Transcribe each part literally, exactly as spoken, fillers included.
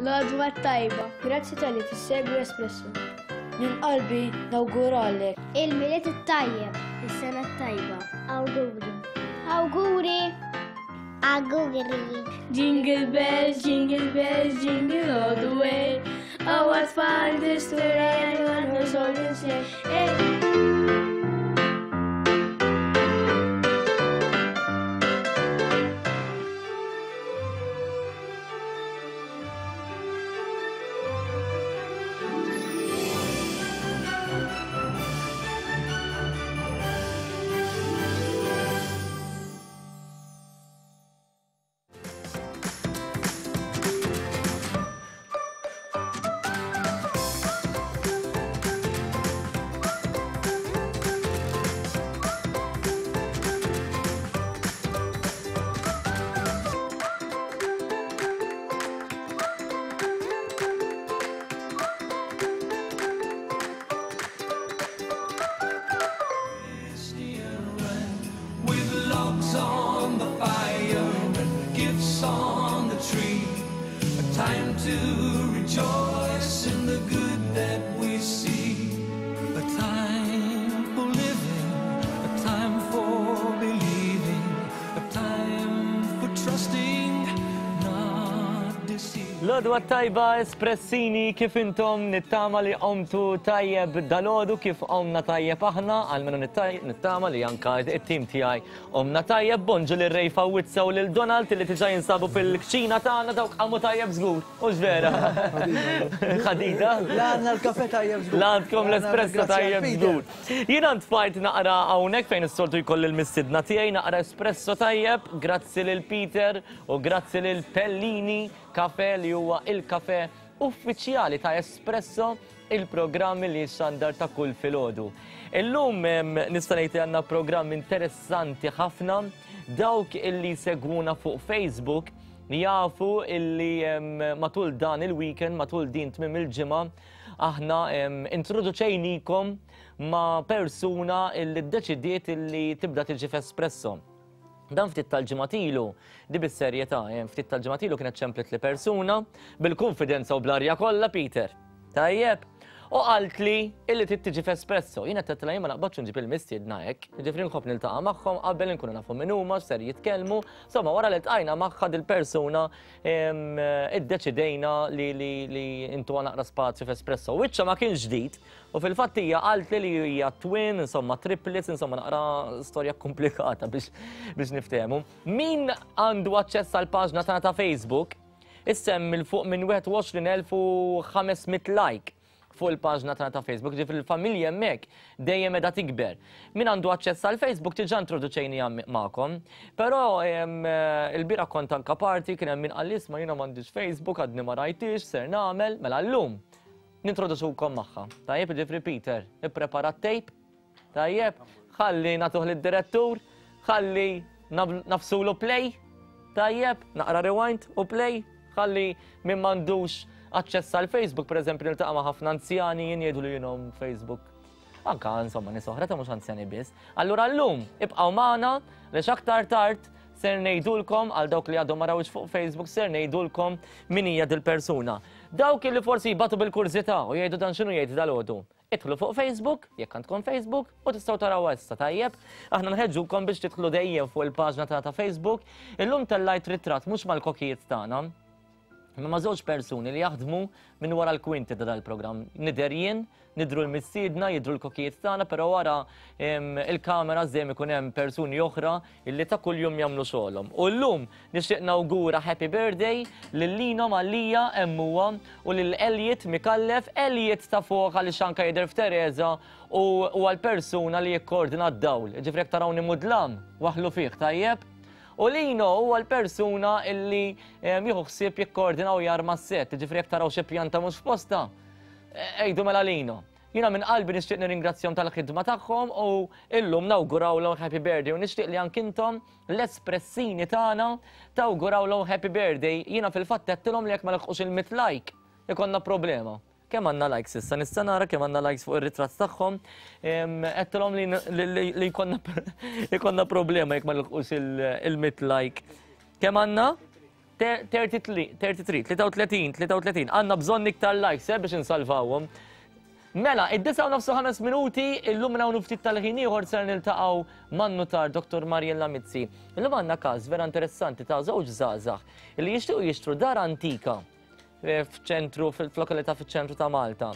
L-għodwa tajba. Grazzi talli tissegwi Espresso. Minn qalbi nawguralek. Il-Milied it-tajjeb. Is-sena t-tajba. Awguri. Awguri. Awguri. Jingle bells, jingle bells, jingle all the way. Oh, what fun it is to ride on a horse sleigh. Hey. Time to rejoice in the good that we see. A time for living, a time for believing, a time for trusting, not deceiving. L-għodwa tajba Espressini, kif intom? Nittama li qomtu tajjeb dalgħodu kif qomna tajjeb aħna, almenu nittama li anka it-tim tiegħi qomna tajjeb. Bonġu lil Ray Fawizza u lil Donald li diġà jinsabu fil-kċina tagħna, dawk qamu tajjeb żgur, hux vera? Ħadida? La għandna l-kafe tajjeb żgur. La għandkom l-espresso tajjeb żgur. Jiena ntfajt naqra hawnhekk fejn is-soltu jkolli l-mistidna tiegħi, naqra espresso tajjeb, grazzi lil Peter u grazzi lil Pellini Kafe li huwa il-kafe uffiċjali ta' Espresso, il-programm li xandar ta' kull filgħodu. Illum nista' ngħid li għandna programm interessanti ħafna. Dawk illi segwuna fuq Facebook jafu illi matul dan il-weekend, matul din tmiem il-ġimgħa, aħna introduċejnikom ma' persuna illi ddeċidiet illi tibda tiġi f'Espresso. Dan ftit tal-ġimgħat ilu, di bis-serjetà, ftit tal-ġimgħat ilu kienet ċemplet li persuna bil-konfidenza u bl-arja kollha, Peter. Tajjeb. U qalt li illi trid tiġi f'Espresso. Jiena qed tgħidilha jien ma naqbadx nġib il-mistiedna hekk. Jiġifieri nħobb niltaqa' magħhom qabel inkunu nafu min huma, x'ser jitkellmu. Insomma, wara li ltqajna magħha dil-persuna iddeċidejna li li intuha naqra spazju f'Espresso. Wiċċha ma kienx ġdid. U fil-fatt hija qalt li hija twin, insomma triplets, insomma naqra storja komplikata biex biex niftehmu. Min għandu aċċess għall paġna tagħna ta' Facebook, issemmi l fuq minn wieħed u għoxrin elf u ħames mitt like fuq il-paġna tagħna ta' Facebook, ġifieri l-familja hemmhekk dejjem qiegħda tikber. Min għandu aċċess għal Facebook diġà introduċejnija magħkom, però il-bieraħ kont anka party kien hemm min qal isma' jiena m'għandix Facebook, għadni ma rajtix, ser nagħmel, mela llum nintroduċukom magħha. Tajjeb, ġifieri Peter, ipprepara t-tape, tajjeb, ħalli nagħtuh lid-direttur, ħalli nafsulu play, tajjeb, naqra rewind u play, ħalli min m'għandux aċċess għal Facebook, per eżempju, niltaqa' ma' ħafna anzjani jien jgħidu li jienhom Facebook. Anka insomma nies oħra ta' mhux anzjani biss. Allura llum ibqgħu magħna għaliex aktar tard ser ngħidulkom għal dawk li għadhom ma rawx fuq Facebook ser ngħidulkom min hija dil-persuna. Dawk li forsi jbatu bil-kurżità u jgħidu dan x'inhu jgħid dalgħodu. Idħlu fuq Facebook, jekk għandkom Facebook, u tistgħu taraw issa, tajjeb. Aħna nħeġġukom biex tidħlu dejjem fuq il-paġna tagħna ta' Facebook. Illum tellajt ritratt mhux mal-kokijiet tagħna, imma ma' żewġ persuni li jaħdmu minn wara l-kwinti ta' dal-programm. Nidher jien, nidru l-mistiedna, jidru l-kokijiet tagħna, però wara il-kamera żejjem ikun hemm persuni oħra illi ta' kuljum jagħmlu xogħolhom. U llum nixtieq nawgura happy birthday lil Lino Mallia hemm huwa u lil Elliot Mikallef, Elliot ta' fuq għaliex anke jidher f'Teresa u huwa l-persuna li jikkoordina d-dawl. Ġifieri jekk tarawni mudlam, waħlu fih, tajjeb? U Lino huwa l-persuna illi jieħu ħsieb jikkoordina u jarma s-set, ġifieri jekk taraw xi pjanta mhux f'posta, ejdu mela Lino. Jiena minn qalbi nixtieq nirringrazzjahom tal-ħidma tagħhom u illum nawgurawlhom happy birthday u nixtieq li anke intom l-espressini tagħna tawgurawlhom happy birthday. Jiena fil-fatt għedtilhom li jekk ma laħqux il-mitt like ikollna problema. Kemm għandna likes issa, nista' nara kemm għandna likes fuq ir-ritratt tagħhom. Għedtilhom li jkollna problema jekk ma nilħqux il-mitt like. Kemm għandna? tletin, tlieta u tletin, għandna bżonn iktar likes eh, biex insalvawhom. Mela, id-disgħa u nofs u ħames minuti, illum minn hawn ftit tal-ħin ieħor ser niltaqgħu man-nutar Doktor Mariella Mizzi. Illum għandna każ vera interessanti ta' żewġ żgħażagħ li jixtiequ jixtru dar antika f'ċentru, fil-lokalità fiċ-ċentru ta' Malta.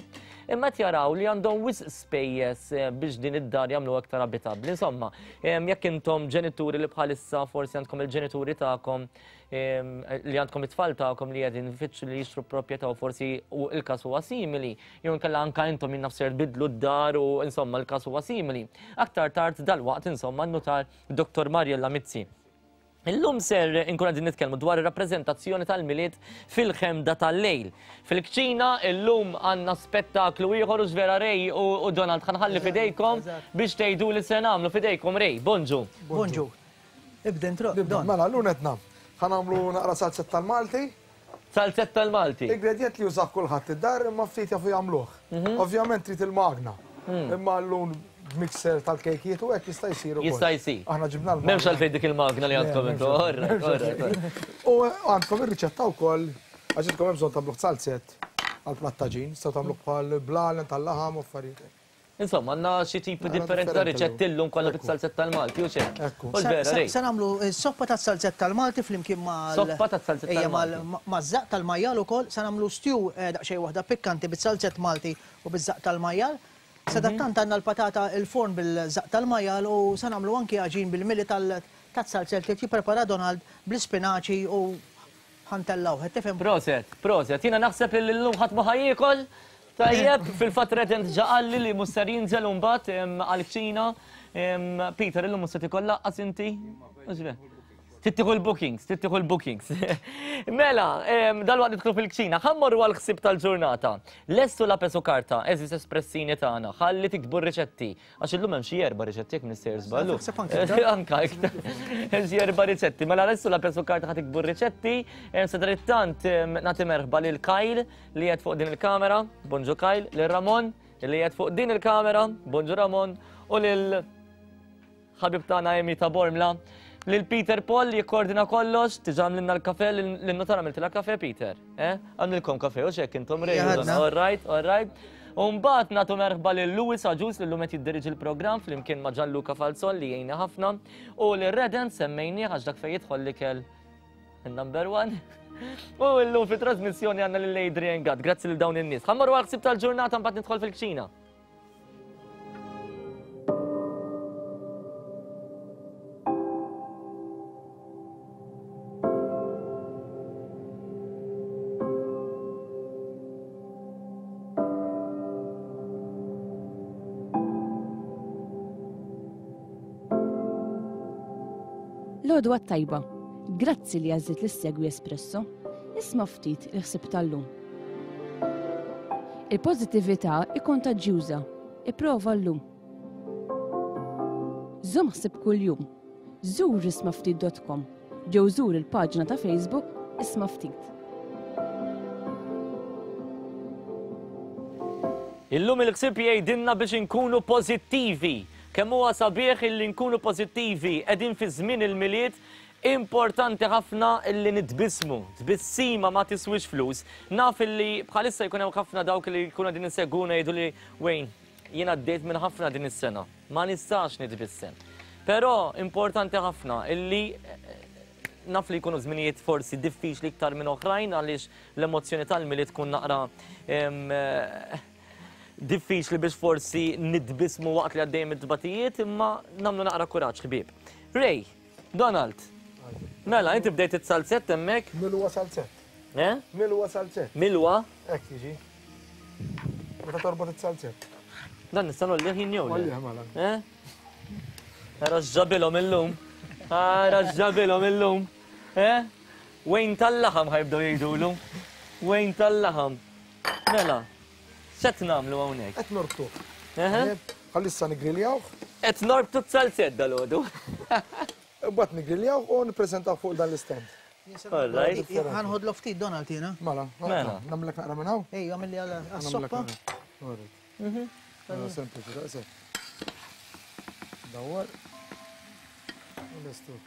Imma qed jaraw li għandhom wisq spejjeż biex din id-dar jagħmlu aktar abitabbli. Insomma, jekk intom ġenituri li bħalissa forsi għandkom il-ġenituri tagħkom li għandkom it-tfal tagħkom li qegħdin ifittxu li jixtru proprjetà u forsi u il-każ huwa simili, jew inkella anke intom min naf ser tbiddlu d-dar u insomma l-każ huwa simili. Aktar tard dalwaqt insomma n-nutar Doktor Mariella Mizzi. Illum ser inkun qegħdin nitkellmu dwar ir-rappreżentazzjoni tal-Milied fil-ħemda tal-lejl. Fil-kċina illum għandna spettaklu ieħor u vera Ray u Donald ħanħalli fidejkom biex tgħidu li se nagħmlu fidejkom. Ray, bonġu. Bonġu. Ibda intro. Mela, llum qed nagħmlu. Ħa nagħmlu naqra salzett tal-Malti. Salzett tal-Malti. Ingredient li jużah kulħadd id-dar imma ftit jafu jagħmluh. Ovvjament trid il-magna. Imma llum mixer tal-kejkiet u hekk jista' jsir ukoll. Jista' jsir. Aħna ġibna l-magna. M'hemmx għalfejn dik il-magna li għandkom intu. U għandkom ir-riċetta wkoll għax intkom hemm bżonn tagħmluh salzett għall-plattaġin, tistgħu tagħmluh bħal blalen tal-laħam u affarijiet. Insomma, għandna xi tipi differenti ta' riċetti llum kollha bit-salzett tal-Malti u xejn. Se nagħmlu soppa tas-salzett tal-Malti flimkien mal Soppa tas-salzett tal-Malti. Maż-żaqq tal-majjal ukoll se nagħmlu stew daqsxejn waħda pikkanti bit-salzett Malti u biż-żaqq tal-majjal. Sadattant għandna l-patata il-forn bil-żaqq tal-majjal u se nagħmlu anki għaġin bil-mili tas-salzett li jipprepara Donald bl-ispinaċi u ħantellaw. Tifhem? Proset, proset. Jiena naħseb li llum ħadd ma ħajjiekol. Tajjeb, fil-fatt Redent ġa qalli li mhux ser jinżel mbagħad għall-kċina. Peter, illum mhux se tikol laqqas inti? Tittieħu l-bookings, tittieħu l-bookings. Mela, dalwaqt nidħlu fil-kċina, ħa mmorru għall-ħsieb tal-ġurnata. Lestu lapes u karta, eżis espressini tagħna, ħalli tiktbu r-riċetti. Għax illum hemm xi erba' riċetti jekk nistejjer żballu. Anka iktar. Hemm xi erba' riċetti. Mela lestu lapes u karta ħa tiktbu r-riċetti. Sadanittant nagħti merħba lil Kyle li qed fuq din il-kamera, bonġu Kyle, lil Ramon li qed fuq din il-kamera, bonġu Ramon, u lil ħabib tagħna Amy ta' Bormla. Lil Peter Paul li jikkoordina kollox, tiġa għamlilna l-kafe, lil-notar għamiltilha kafe, Peter. Għamlilkom kafe, u xek intom Ray. All right, all right. U mbagħad nagħtu merħba lil Louis Agius li llum qed jiddiriġi l-programm flimkien ma' Gianluca Falzon li jgħinna ħafna u lil Redent semmejnieh għax dak fejn jidħol l-ikel number one. U llum fit-trasmissjoni għandna lil Adrian Gatt, grazzi lil dawn in-nies. Ħa mmorru għall-ħsieb tal-ġurnata mbagħad nidħol fil-kċina. L-għodwa t-tajba, grazzi li għażilt li ssegwi Espresso, isma' ftit il-ħsieb tal-lum. Il-pożittività hi kontaġġjuża, ipprova llum. Żomm ħsieb kuljum, żur isma' ftit dot com, ġew żur il-paġna ta' Facebook Isma' Ftit. Illum il-ħsieb jgħidilna biex inkunu pożittivi. Kemm huwa sabiħ illi nkunu pożittivi, qegħdin fi żmien il-Milied, importanti ħafna illi nitbismu. Tbissima ma tiswix flus. Naf illi bħalissa jkun hemm ħafna dawk li jkunu qegħdin insegwuna jgħidu li Wayne, jien għaddejt minn ħafna din is-sena, ma nistax nitbissem. Però importanti ħafna illi naf li jkunu żminijiet forsi diffiċli iktar minn oħrajn għaliex l-emozzjoni tal-Milied tkun naqra diffiċli biex forsi nitbismu waqt li għaddejjem id-dbatijiet, imma nagħmlu naqra kuraġġ ħbieb. Ray, Donald, mela inti bdejt it-salzett hemmhekk? Milwa salzett. Eh? Milwa salzett. Milwa? Hekk jiġi. Meta torbot it-salzett. Dan nista' nolli ħin jew le? Ollih mela. Eh? Ara x'ġabilhom illum. Ara x'ġabilhom illum. Eh? Wejn tal-laħam ħajbdew jgħidulu. Wejn tal-laħam. Mela. X'qed nagħmlu hawnhekk? Qed norbtuh. Bħalissa nigriljawh. Qed norbtu t-salzett dalgħodu. Imbagħad nigriljawh u nippreżentaw fuq dan l-istand. Ħanħodlu ftit Donald jiena. Mela, nagħmlek naqra minn hawn? Ejja, għamilli għas-soppa. Sempliċi, daqshekk. Dawwar. U lestu.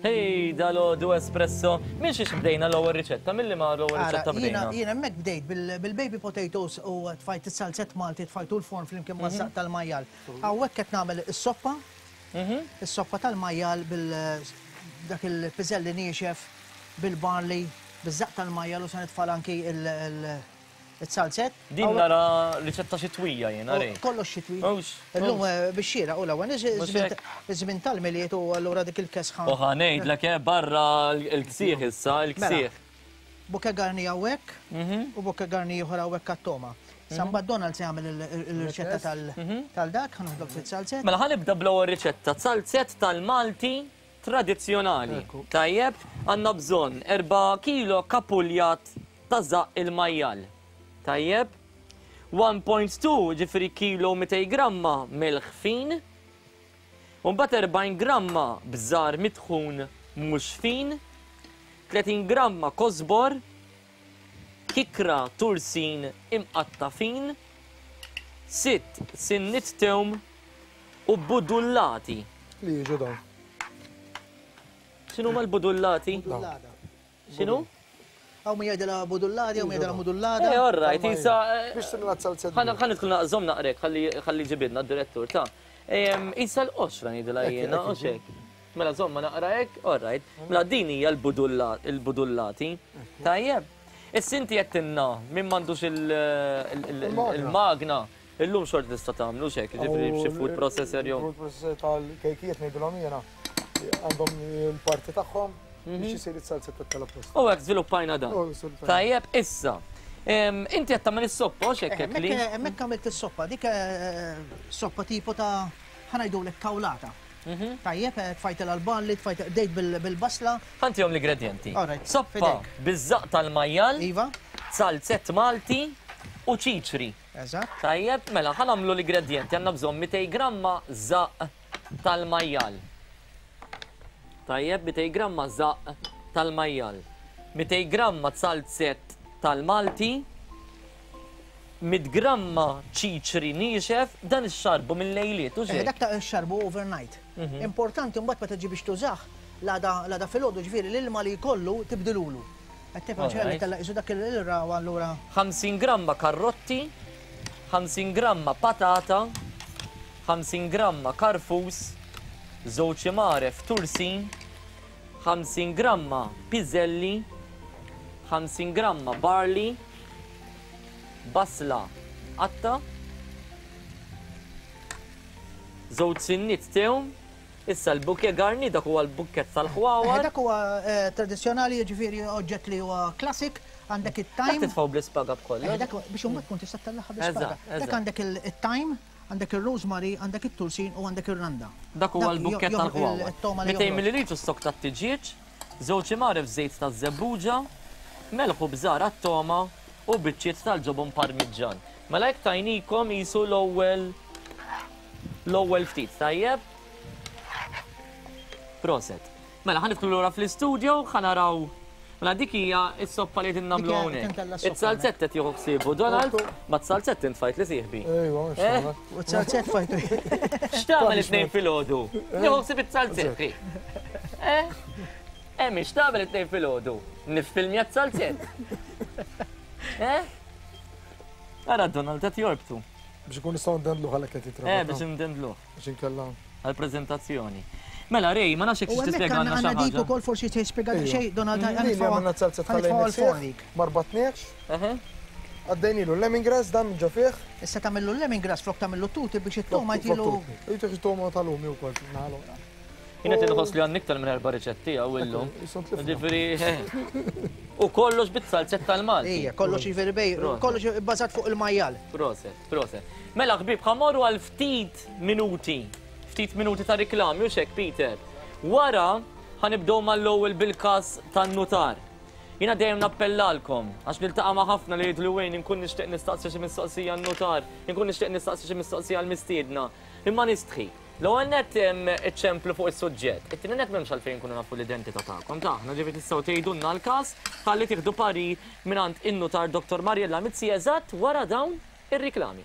Hej, dal-għodu espresso. Minn xiex bdejna l-ewwel riċetta? Milli ma l-ewwel riċetta bdejna? Jiena hemmhekk bdejt bil-baby potatoes u tfajt is-salzett Malti, tfajtu l-forn flimkien maż-żaqq tal-majjal. Hawnhekk qed nagħmel is-soppa, is-soppa tal-majjal bil dak il-piżelli niexef bil-barley, biż-żaqq tal-majjal u se nitfal anki il-salzett. Din nara riċetta xitwija jiena rej. Kollox xitwi. Illum bix-xira u l-ewwel iż-żmien tal-Milied u allura dik il-kesħa. U ħa ngħidlek barra l-ksieħ issa, l-ksieħ. Bouquet garni hawnhekk u bouquet garni ieħor hawnhekk għat-toma. Samba Donald se jagħmel il-riċetta tal-dak, ħa noħdok fit-salzett. Mela ħa nibda bl-ewwel riċetta, salzett tal-Malti tradizzjonali. Tajjeb, għandna bżonn erba' kilo kapuljat ta' żaqq il-majjal. Tajjeb, one point two ġifieri kilo mitej gramma melħ fin, u mbagħad erbgħin gramma bżar mitħun mhux fin, tletin gramma kosbor, kikra tursin imqatta fin, sitt sinnit tewm u budullati. Li jiġu dawn. X'inhuma l-budullati? X'inhu? Għaw mi jgħidilha budullati, għaw mi jgħidilha mudullata. Eh, all right, isa. Biex timla s-salzett. Ħa nidħol naqżom naqrek, ħalli ġibidna d-direttur, ta' Isa l-qoxra ngħidilha jiena, u xek. Mela żomma naqra hekk, all right. Mela din hija l-budullati. Tajjeb. Issa inti qed tinna min m'għandux il-magna, illum xorta tista' tagħmlu xek, ġifieri b'xi food processor jew. Food processor tal-kejkijiet ngħidilhom jiena għandhom il-parti tagħhom. Biex isir is-salzett tal-apposta. U hekk żviluppajna dan. Tajjeb, issa. Inti qed tagħmel is-soppa, hekk hekk li. Hemmhekk għamilt is-soppa, dik soppa tipo ta' ħa ngħidulek kawlata. Tajjeb, tfajt l-balli, tfajt bdejt bil-basla. Ħantihom l-ingredjenti. Soppa biż-żaqq tal-majjal. Iva. Salzett Malti u ċiċri. Eżatt. Tajjeb, mela ħa nagħmlu l-ingredjenti, għandna bżonn mitej gramma żaqq tal-majjal. Tajjeb, mitej gramma żaqq tal-majjal, mitej gramma salzett tal-Malti, mit gramma ċiċri niexef, dan ix-xarbu mill-lejliet, u xejn. Dak ta' xarbu overnight. Importanti mbagħad meta ġi biex tużah, l-għada filgħodu ġifieri l-ilma li jkollu tibdilulu. Qed tifhem xejn tella qisu dak il-ra u allura. ħamsin gramma karrotti, ħamsin gramma patata, ħamsin gramma karfus, żewġ imgħaref tursin, ħamsin gramma piżelli, ħamsin gramma barley, basla qatta, żewġ sinnit tewm, issa l-bouquet garni, dak huwa l-bukket tal-ħwawar. Dak huwa tradizzjonali, jiġifieri oġġett li huwa classic, għandek it-thyme. Dak titfgħu bl-ispaga b'kollox. Dak biex imbagħad tkun tista' tellagħha bl-ispaga. Dak għandek it-thyme, għandek il-rosemary, għandek it-tursin u għandek ir-randa. Dak huwa l-bukket tal-ħwawar. Mitejn millilitru stok tat-tiġieġ, żewġ imgħaref żejt taż-żebbuġa, melħ u bżar għat-toma u biċċiet tal-ġobon parmiġġan. Mela hekk tajnikom qisu l-ewwel l-ewwel ftit, tajjeb? Proset. Mela ħa nidħlu lura fl-istudio, ħa naraw. Mela dik hija s-soppa li qegħdin nagħmlu hawnhekk. Is-salzett qed jieħu ħsiebu Donald, ma t-salzett intfajt li sieħbi. Ejwa, U t-salzett fajtu. X'tagħmel it-tnejn filgħodu? Nieħu ħsieb it-salzett. Eh? Eh, mhix tagħmel it-tnejn filgħodu. Niffilmja t-salzett. Eh? Ara Donald qed jorbtu. Biex ikun nistgħu ndendluh għalhekk qed jitrabat. Eh, biex ndendluh. Biex inkella. Għall-preżentazzjoni. Mela, Rej, ma nafx jekk U hemmhekk tispjega għandna xi dik ħaġa. ukoll forsi tispjega xejn, Donald, Lili għamilna t-salzett ħanitfgħu ħallejna għall-forn dik. Ma rbatniex. Għaddejnilu l-lemongrass dan minn ġo fih. Issa tagħmillu l-lemongrass flok tagħmillu tuti biex it-toma jtilu. Jtilu it-toma tal-lumi wkoll naħlu. Jien qed inħoss li għandna iktar minn erba' riċetti hawn illum. Jisson tlifna. Ġifieri, u kollox bit-salzett tal-Malti. Ija, kollox jiġifieri bej, Proset. kollox bbażat fuq il-majjal. Proset, proset. Mela ħbieb, ħa mmorru għal ftit minuti. Ftit minuti ta' riklami u xek, Peter. Wara ħanibdew mal-ewwel bil-każ tan-nutar. Jiena dejjem nappellalkom għax niltaqa' ma' ħafna li jgħidu li wejn inkun nixtieq nistaqsi xi mistoqsija n-nutar, inkun nixtieq nistaqsi xi mistoqsija l-mistiedna. Imma nistħi. L-ewwel nett iċċemplu fuq is-suġġett. It-tieni nett m'hemmx għalfejn nkunu nafu l-identità tagħkom ta' aħna, ġifieri tistgħu tgħidulna l-każ ħalli tieħdu parir mingħand in-nutar Doktor Mariella Mizzi eżatt wara dawn ir-riklami.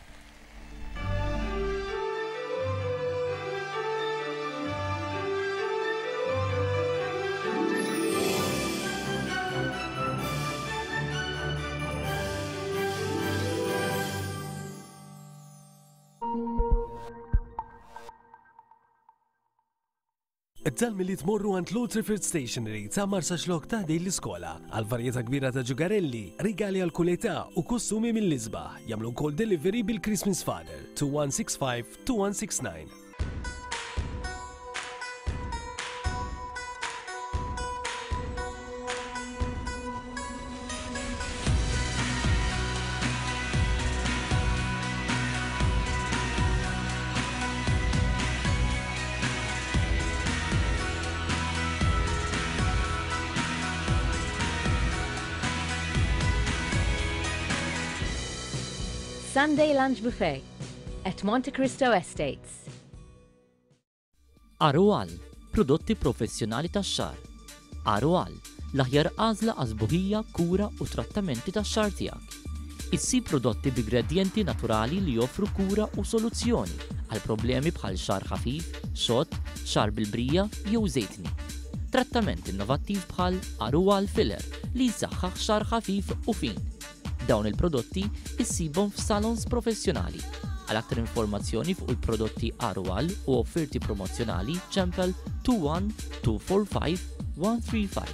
Tal-Milied morru għand Lord Trifford Stationery ta' Marsaxlokk ta' ħdejn l-iskola għal varjetà kbira ta' ġugarelli, rigali għal kull età u kostumi mill-isbaħ. Jagħmlu wkoll delivery bil-Christmas Father two one six five two one six nine. Sunday Lunch Buffet at Monte Cristo Estates. Arual, prodotti professjonali tax-xagħar. Arual, l-aħjar għażla għażbuħija, kura u trattamenti tax-xagħar tiegħek. Issib prodotti b'ingredjenti naturali li joffru kura u soluzzjoni għal problemi bħal xagħar ħafif, xott, xagħar bil-brija jew żejtni. Trattament innovattiv bħal Arual Filler li jsaħħaħ xagħar ħafif u fin. Dawn il-prodotti issibhom f'salons professjonali. Għal aktar informazzjoni fuq il-prodotti Arual u offerti promozzjonali ċempel two one two four five one three five.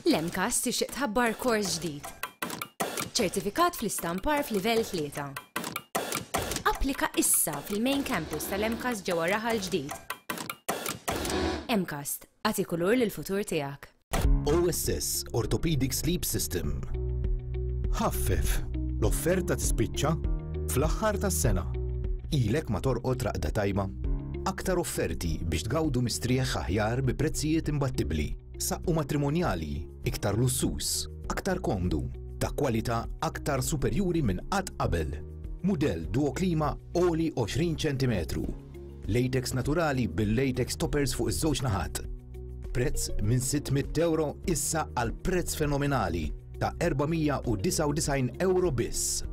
L-MCAST tixtieq tħabbar kors ġdid. Ċertifikat fl-istampar f'livell tlieta. Applika issa fil-main campus tal-MCAST ġewwa Raħal Ġdid. MCAST, agħti kulur lill-futur tiegħek. O S S Orthopedic Sleep System. Ħaffef, l-offerta tispiċċa fl-aħħar tas-sena. Ilek ma torqod raqda tajba. Aktar offerti biex tgawdu mistrieħ aħjar bi prezzijiet imbattibbli. Saqqu matrimonjali, iktar lussus, aktar komdu, ta' kwalità aktar superjuri minn qatt qabel. Mudell Duo Klima għoli għoxrin ċentimetru. Latex naturali bil-latex toppers fuq iż-żewġ naħat. Prezz minn sitt mitt euro issa għal prezz fenomenali ta' erba' mija u disgħa u disgħin euro biss.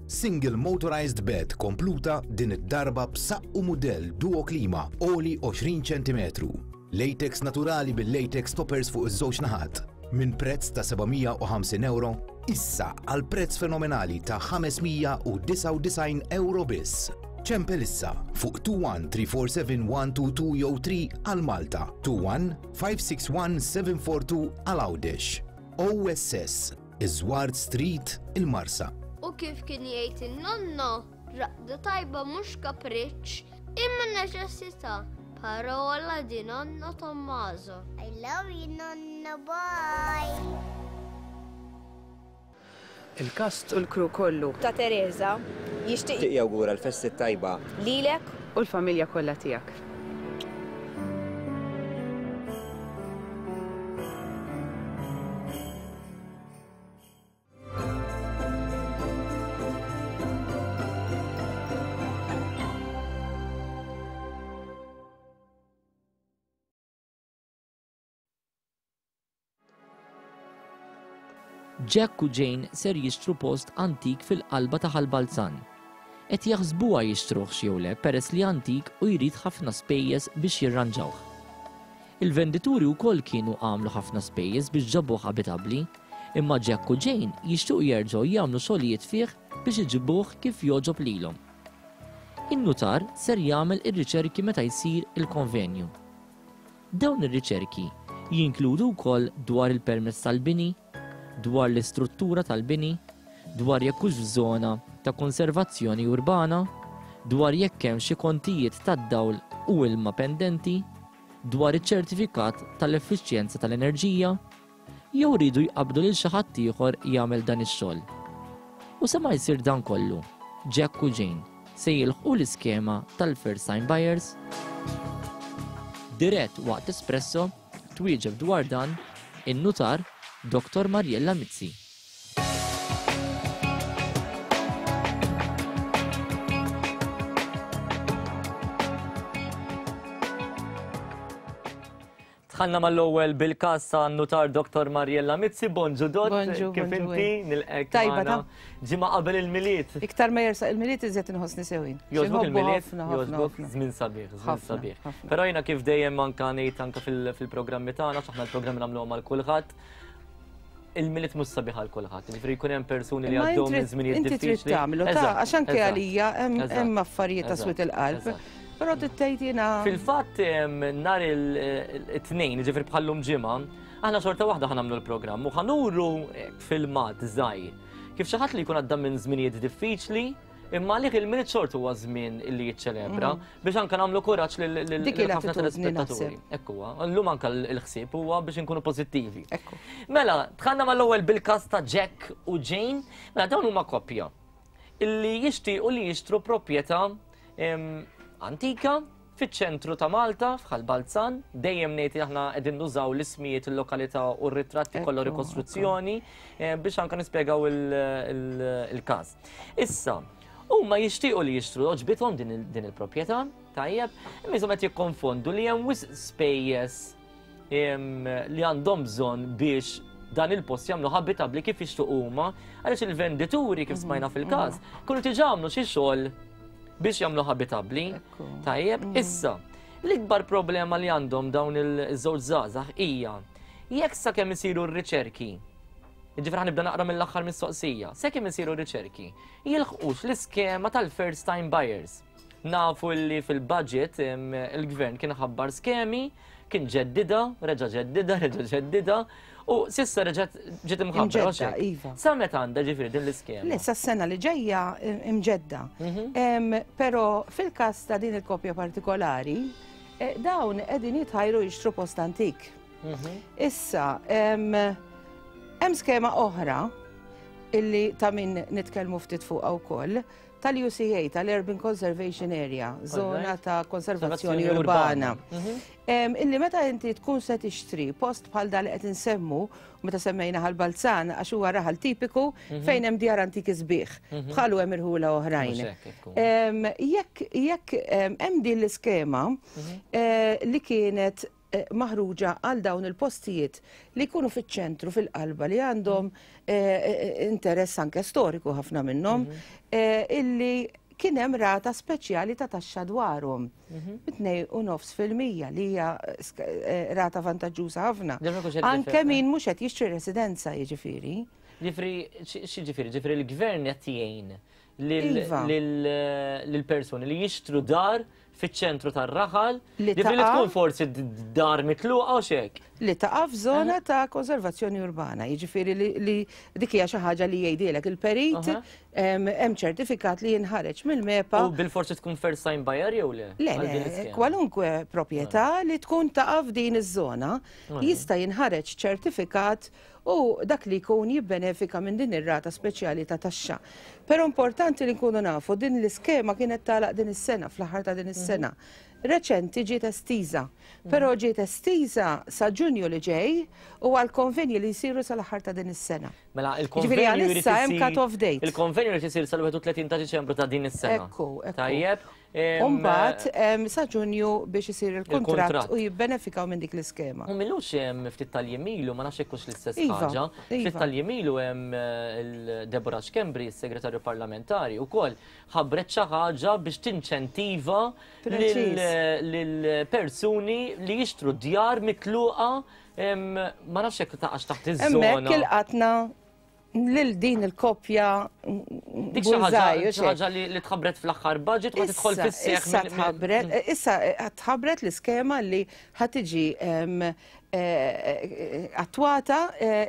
Single motorized bed kompluta din id-darba b'saqqu mudell Duo Klima għoli għoxrin ċentimetru. Latex naturali bil-latex toppers fuq iż-żewġ naħat. Minn prezz ta' seba' mija u ħamsin euro issa għal prezz fenomenali ta' ħames mija u disgħa u disgħin euro biss. Ċempel issa fuq two one three four seven one two two jew three għal Malta, two one five six one seven four two għal Għawdex. O S S, Iżward Street, il-Marsa. U kif kien jgħid in-nonno, raqda tajba mhux kapriċċ, imma neċessità. Parola di nonno Tommaso. I love you nonno, bye. Il-kast u l-kru kollu. Ta' Teresa jixtieq jawgura l-festi tajba lilek u l-familja kollha tiegħek. Jack u Jane ser jixtru post antik fil-qalba ta' Ħal Balzan. Qed jaħsbuha jixtruh jew le peress li antik u jrid ħafna spejjeż biex jirranġawh. Il-vendituri wkoll kienu għamlu ħafna spejjeż biex ġabuh abitabbli, imma Jack u Jane jixtiequ jerġgħu jagħmlu xogħlijiet fih biex iġibuh kif jogħġob lilhom. In-nutar ser jagħmel ir-riċerki meta jsir il-konvenju. Dawn ir-riċerki jinkludu wkoll dwar il-permess tal-bini, dwar l-istruttura tal-bini, dwar jekk hux f'żona ta' konservazzjoni urbana, dwar jekk hemm xi kontijiet tad-dawl u ilma pendenti, dwar iċ-ċertifikat tal-effiċjenza tal-enerġija, jew rridu jqabdu lil xi ħadd ieħor jagħmel dan ix-xogħol. U sa ma jsir dan kollu, Jack u Jane se jilħqu l-iskema tal-first time buyers. Dirett waqt Espresso twieġeb dwar dan in-nutar Doktor Mariella Mizzi. Dħalna mal-ewwel bil-każ ta' nutar Doktor Mariella Mizzi. Bonġu Dott, Bonġu, kif bonġu, inti? Nilqek Tajba, magħna. ta' Ġimgħa qabel il-Milied. Iktar ma jersaq il-Milied iżjed inħossni sewin. Jogħġbok Xi nħobbu il-Milied? ħafna, ħafna, Jogħġbok ħafna. żmien sabiħ, żmien Ħafna, sabiħ. ħafna. Però jiena kif dejjem anka ngħid anka fil-programmi tagħna, x'aħna l-programmi nagħmluhom għal kulħadd. Il-Milied mhux sabiħ għal kulħadd, jiġifieri jkun hemm persuni li għaddew minn żminijiet diffiċli. Inti trid tagħmlu ta' għax anke għalija hemm affarijiet ta' swied il-qalb. Però tgħid jiena. Fil-fatt nhar it-tnejn, jiġifieri bħallum ġimgħa, aħna xorta waħda ħa nagħmlu l-programm u ħa nuru filmat żgħir. Kif xi ħadd li jkun għadda minn żminijiet diffiċli, imma għalih il-Milied xorta huwa żmien li jiċċelebra biex anke nagħmlu kuraġġ lil ħafna telespettaturi. Ekku huwa, llum anke l-ħsieb huwa biex inkunu pożittivi. Mela, dħalna mal-ewwel bil-każ ta' Jack u Jane, mela dawn huma koppja illi jixtiequ li jixtru proprjetà antika fiċ-ċentru ta' Malta, f'Ħal Balzan, dejjem ngħid li aħna qegħdin nużaw l-ismijiet, il-lokalità u r-ritratti kollha rikostruzzjoni biex anke nispjegaw il-każ. Issa, huma jixtiequ li jixtru għoġbithom din il-proprjetà, tajjeb, imma iżhom qed jikkonfondu li hemm wisq spejjeż li għandhom bżonn biex dan il-post jagħmlu habitabbli kif jixtiequ huma, għaliex il-vendituri kif smajna fil-każ, kienu diġà għamlu xi xogħol biex jagħmlu habitabbli. Tajjeb, issa, l-ikbar problema li għandhom dawn il-żewġ żgħażagħ hija jekk sakemm isiru r-riċerki, jiġifieri ħa nibda naqra mill-aħħar mistoqsija, sakemm isiru r-riċerki, jilħqux l-iskema tal-first time buyers. Nafu li fil-budget il-gvern kien ħabbar skemi, kien ġeddida, reġa' ġeddida, reġa' ġeddida, u sissa reġgħet ġiet imħabbra. Iva. Sa meta għandha ġifieri din l-iskema? Le, sa s-sena li ġejja imġedda. Però fil-każ ta' din il-koppja partikolari, dawn qegħdin jitħajru jixtru post antik. Issa, hemm skema oħra illi ta' min nitkellmu ftit fuqha wkoll, tal-U C A, tal-Urban Conservation Area, zona ta' konservazzjoni urbana. Illi meta inti tkun se tixtri post bħal dal li qed insemmu, meta semmejna Ħal Balzan għax huwa raħal tipiku fejn hemm djar antiki sbieħ, bħalu hemm irħula oħrajn. Jekk jekk hemm din l-iskema li kienet maħruġa għal dawn il-postijiet li jkunu fiċ-ċentru, fil-qalba, li għandhom interess anke storiku ħafna minnhom, illi kien hemm rata speċjali ta' taxxa dwarhom. Tnejn u nofs fil-mija li hija rata vantaġġuża ħafna. Anke min mhux qed jixtri residenza jiġifieri. Ġifieri x'jiġifieri? Ġifieri l-gvern qed jgħin lill-persuni li jixtru dar fiċ-ċentru tar-raħal, li tkun forsi dar mitluqa u xek. Li taqa' f'żona ta' konservazzjoni urbana, jiġifieri li dik hija xi ħaġa li jgħidilek il-perit, hemm ċertifikat li jinħareġ mill-MEPA. U bil-forsi tkun first time buyer jew le? Le, le, kwalunkwe proprjetà li tkun taqa' f'din iż-żona jista' jinħareġ ċertifikat u dak li jkun jibbenefika minn din ir-rata speċjali ta' taxxa. Però importanti li nkunu nafu din l-iskema kienet tagħlaq din is-sena, fl-aħħar ta' din is-sena. Reċenti ġiet estiża, però ġiet estiża sa Ġunju li ġej u għal konvenji li jsiru sal-aħħar ta' din is-sena. Mela il-konvenju jrid isir cut-off date. Il-konvenju jrid isir sal-wieħed u tletin ta' Diċembru ta' din is-sena. Ekku, ekku. Tajjeb. U mbagħad sa Ġunju biex isir il-kuntratt u jibbenefikaw minn dik l-iskema. U millux hemm ftit tal-jiem ilu, ma nafx hekk hux l-istess ħaġa. Ftit tal-jiem ilu hemm Deborah Schembri, s-segretarju parlamentari, wkoll ħabbret xi ħaġa biex tinċentiva lill-persuni li jixtru djar mitluqa, ma nafx hekk taqax taħt iż-żona. Hemmhekk ilqatna lil din il-koppja. Dik xi ħaġa li tħabbret fl-aħħar budget u tidħol fis-seħħ. Issa tħabbret, issa tħabbret l-iskema li ħa tiġi attwata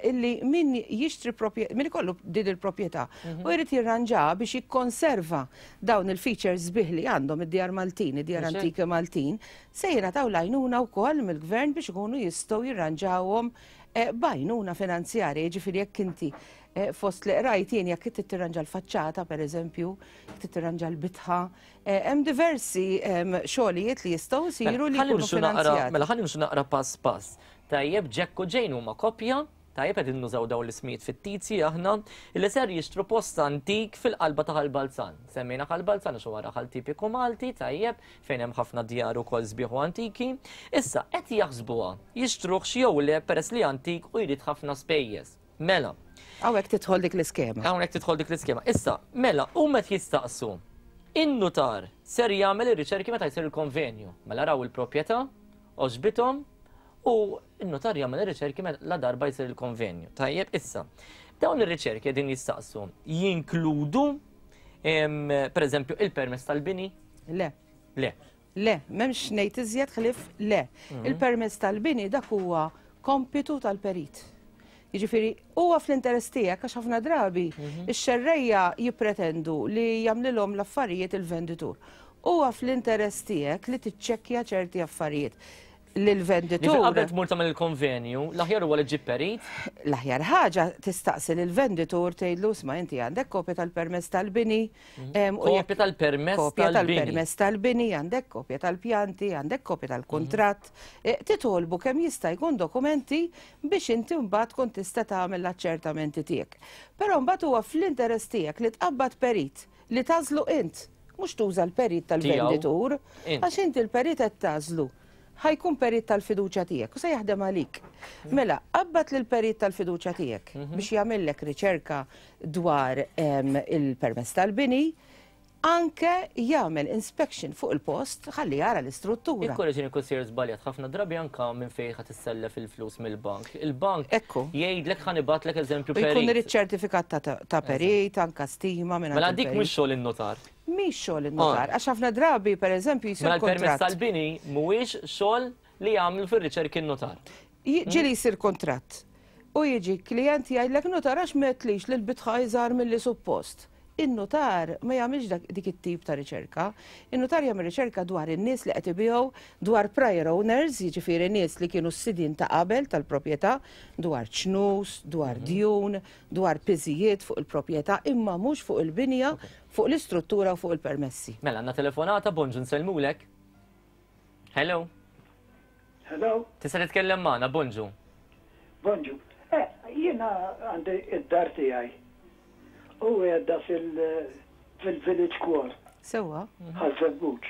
illi min jixtri proprjetà, min ikollu din il-proprjetà u jrid jirranġaha biex jikkonserva dawn il-features sbieħ li għandhom id-djar Maltin, id-djar antiki Maltin, se jingħataw l-għajnuna wkoll mill-gvern biex ikunu jistgħu jirranġawhom b'għajnuna finanzjarja, jiġifieri jekk inti fost li qrajt jien jekk trid tirranġa l-faċċata pereżempju, jekk trid tirranġa l-bitħa, hemm diversi xogħlijiet li jistgħu jsiru li jkunu finanzjati. Mela ħalli nimxu naqra pass pass. Tajjeb, Jack u Jane huma koppja, tajjeb qegħdin nużaw dawn l-ismijiet fittizji aħna, li ser jixtru post antik fil-qalba ta' Ħal Balzan. Semmejna Ħal Balzan għax huwa raħal tipiku Malti, tajjeb, fejn hemm ħafna djar ukoll sbieħ u antiki. Issa qed jaħsbuha jixtruh jew le peress li antik u jrid ħafna spejjeż. Mela. Hawnhekk tidħol dik l-iskema. Hawnhekk tidħol dik l-iskema. Issa, mela, huma qed jistaqsu. In-nutar ser jagħmel ir-riċerki meta jsir il-konvenju. Mela raw il-proprjetà, għoġbithom U n-notar jagħmel ir-riċerki meta la darba jsir il-konvenju. Tajjeb, issa, dawn ir-riċerki qegħdin jistaqsu jinkludu per eżempju il-permess tal-bini? Le. Le. Le, m'hemmx ngħid iżjed ħlief le. Mhm. Il-permess tal-bini dak huwa kompitu tal-perit. Jiġifieri huwa fl-interess tiegħek għax ħafna drabi Mhm. ix-xerrejja jippretendu li jagħmlilhom l-affarijiet il-venditur. Huwa fl-interess tiegħek li tiċċekkja ċerti affarijiet lill-venditur. Qabel tmur tagħmel il-konvenju, l-aħjar huwa li ġib perit. L-aħjar ħaġa tistaqsi lill-venditur tgħidlu isma' inti għandek kopja tal-permess tal-bini. em, u jekk- Kopja tal-permess Kopja tal-bini. tal-permess tal-bini, għandek kopja tal-pjanti, għandek kopja tal-kuntratt. Eh, Titolbu kemm jista' jkun dokumenti biex inti mbagħad tkun tista' tagħmel l-aċċertamenti tiegħek. Però mbagħad huwa fl-interess tiegħek li tqabbad perit li tagħżlu int, mhux tuża l-perit tal-venditur, Int. għax inti l-perit qed tagħżlu. Ħa jkun perit tal-fiduċja tiegħek u se jaħdem għalik. Mela, qabbad lil perit tal-fiduċja tiegħek biex jagħmellek riċerka dwar em, il-permess tal-bini, anke jagħmel inspection fuq il-post ħalli jara l-istruttura. Ikkorreġini jekk sejjer żbaljat ħafna drabi anka minn fejn ħa tissellef il-flus mill-bank. Il-bank jgħidlek ħa nibgħatlek eżempju U jkun perit. irid ċertifikat ta' ta' perit, anka stima minn Mela dik mhux xogħol in-notar. Mhix xogħol in-notar, għax ħafna drabi pereżempju jsir Mela l-permess kontratt. tal-bini mhuwiex xogħol li jagħmlu fir-riċerki n-notar. Ġieli jsir kontratt. U jiġi klient jgħidlek notar għax m'għedtlix li l-bitħa iżgħar milli suppost. In-notar ma jagħmilx dak- dik it-tip ta' riċerka. In-notar jagħmel riċerka dwar in-nies li qed ibigħu, dwar prior owners, jiġifieri nies li kienu s-sidin ta' qabel tal-proprjetà, dwar ċnus, dwar djun, dwar piżijiet fuq il-proprjetà, imma mhux fuq il-binja, fuq l-istruttura u fuq il-permessi. Mela għandna telefonata, bonġu nsellmulek. Hello. Hello, Tista' titkellem magħna, bonġu. bonġu. Eh, jiena għandi id-dar tiegħi. U għedda fil-village core. Sewwa. Ħaż-Żebbuġ.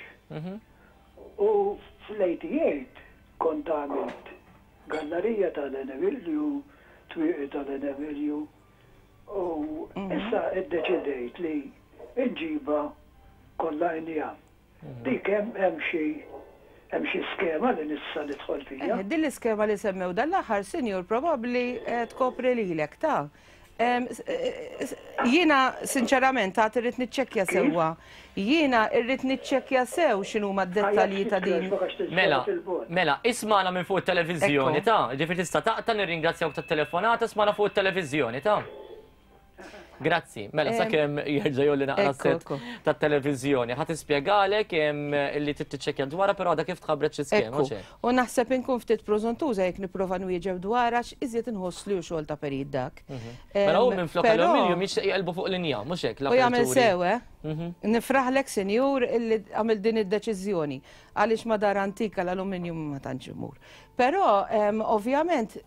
U fl-eighty-eight kont għamilt gallerija tal-Enevilju, twieqi tal-Enevilju, u issa iddeċidejt li nġiba kollha injam. Dik hemm hemm xi hemm xi skema li nista' nidħol fiha. Eh, din l-iskema li semmew dal-aħħar, sinjur, probabbli eh, tkopri lilek ta' Em, s- eh, s- Jiena sinċerament għad irrid niċċekkja sewwa. Jiena irrid niċċekkja sew x'inhuma d-dettalji ta' din. Mela, mela, ismagħna minn fuq it-televiżjoni Ekku. ta' ġifieri tista' taqta' nirringrazzjawk tat-telefonata, ismagħna fuq it-televiżjoni ta' Grazzi, mela Em, sakemm jerġa' jolli naqra ekku, set ekku. tat-televiżjoni. Ħa tispjegalek em, li trid tiċċekkja dwarha, però għadha kif tħabbret xi skema, Ekku. mhux hekk? U naħseb inkun ftit prożuntuża jekk nipprova nwieġeb dwar għax iżjed inħoss li hu xogħol ta' perit dak. Mela hu Em, minn flok però- aluminium jixtieq jqelbu fuq l-injam, mhux hekk U jagħmel l-aperturi. sew, eh? Nifraħlek, senjur, illi għamil din id-deċiżjoni għaliex ma dar antika l-aluminium ma tantx imur. Però em, ovvjament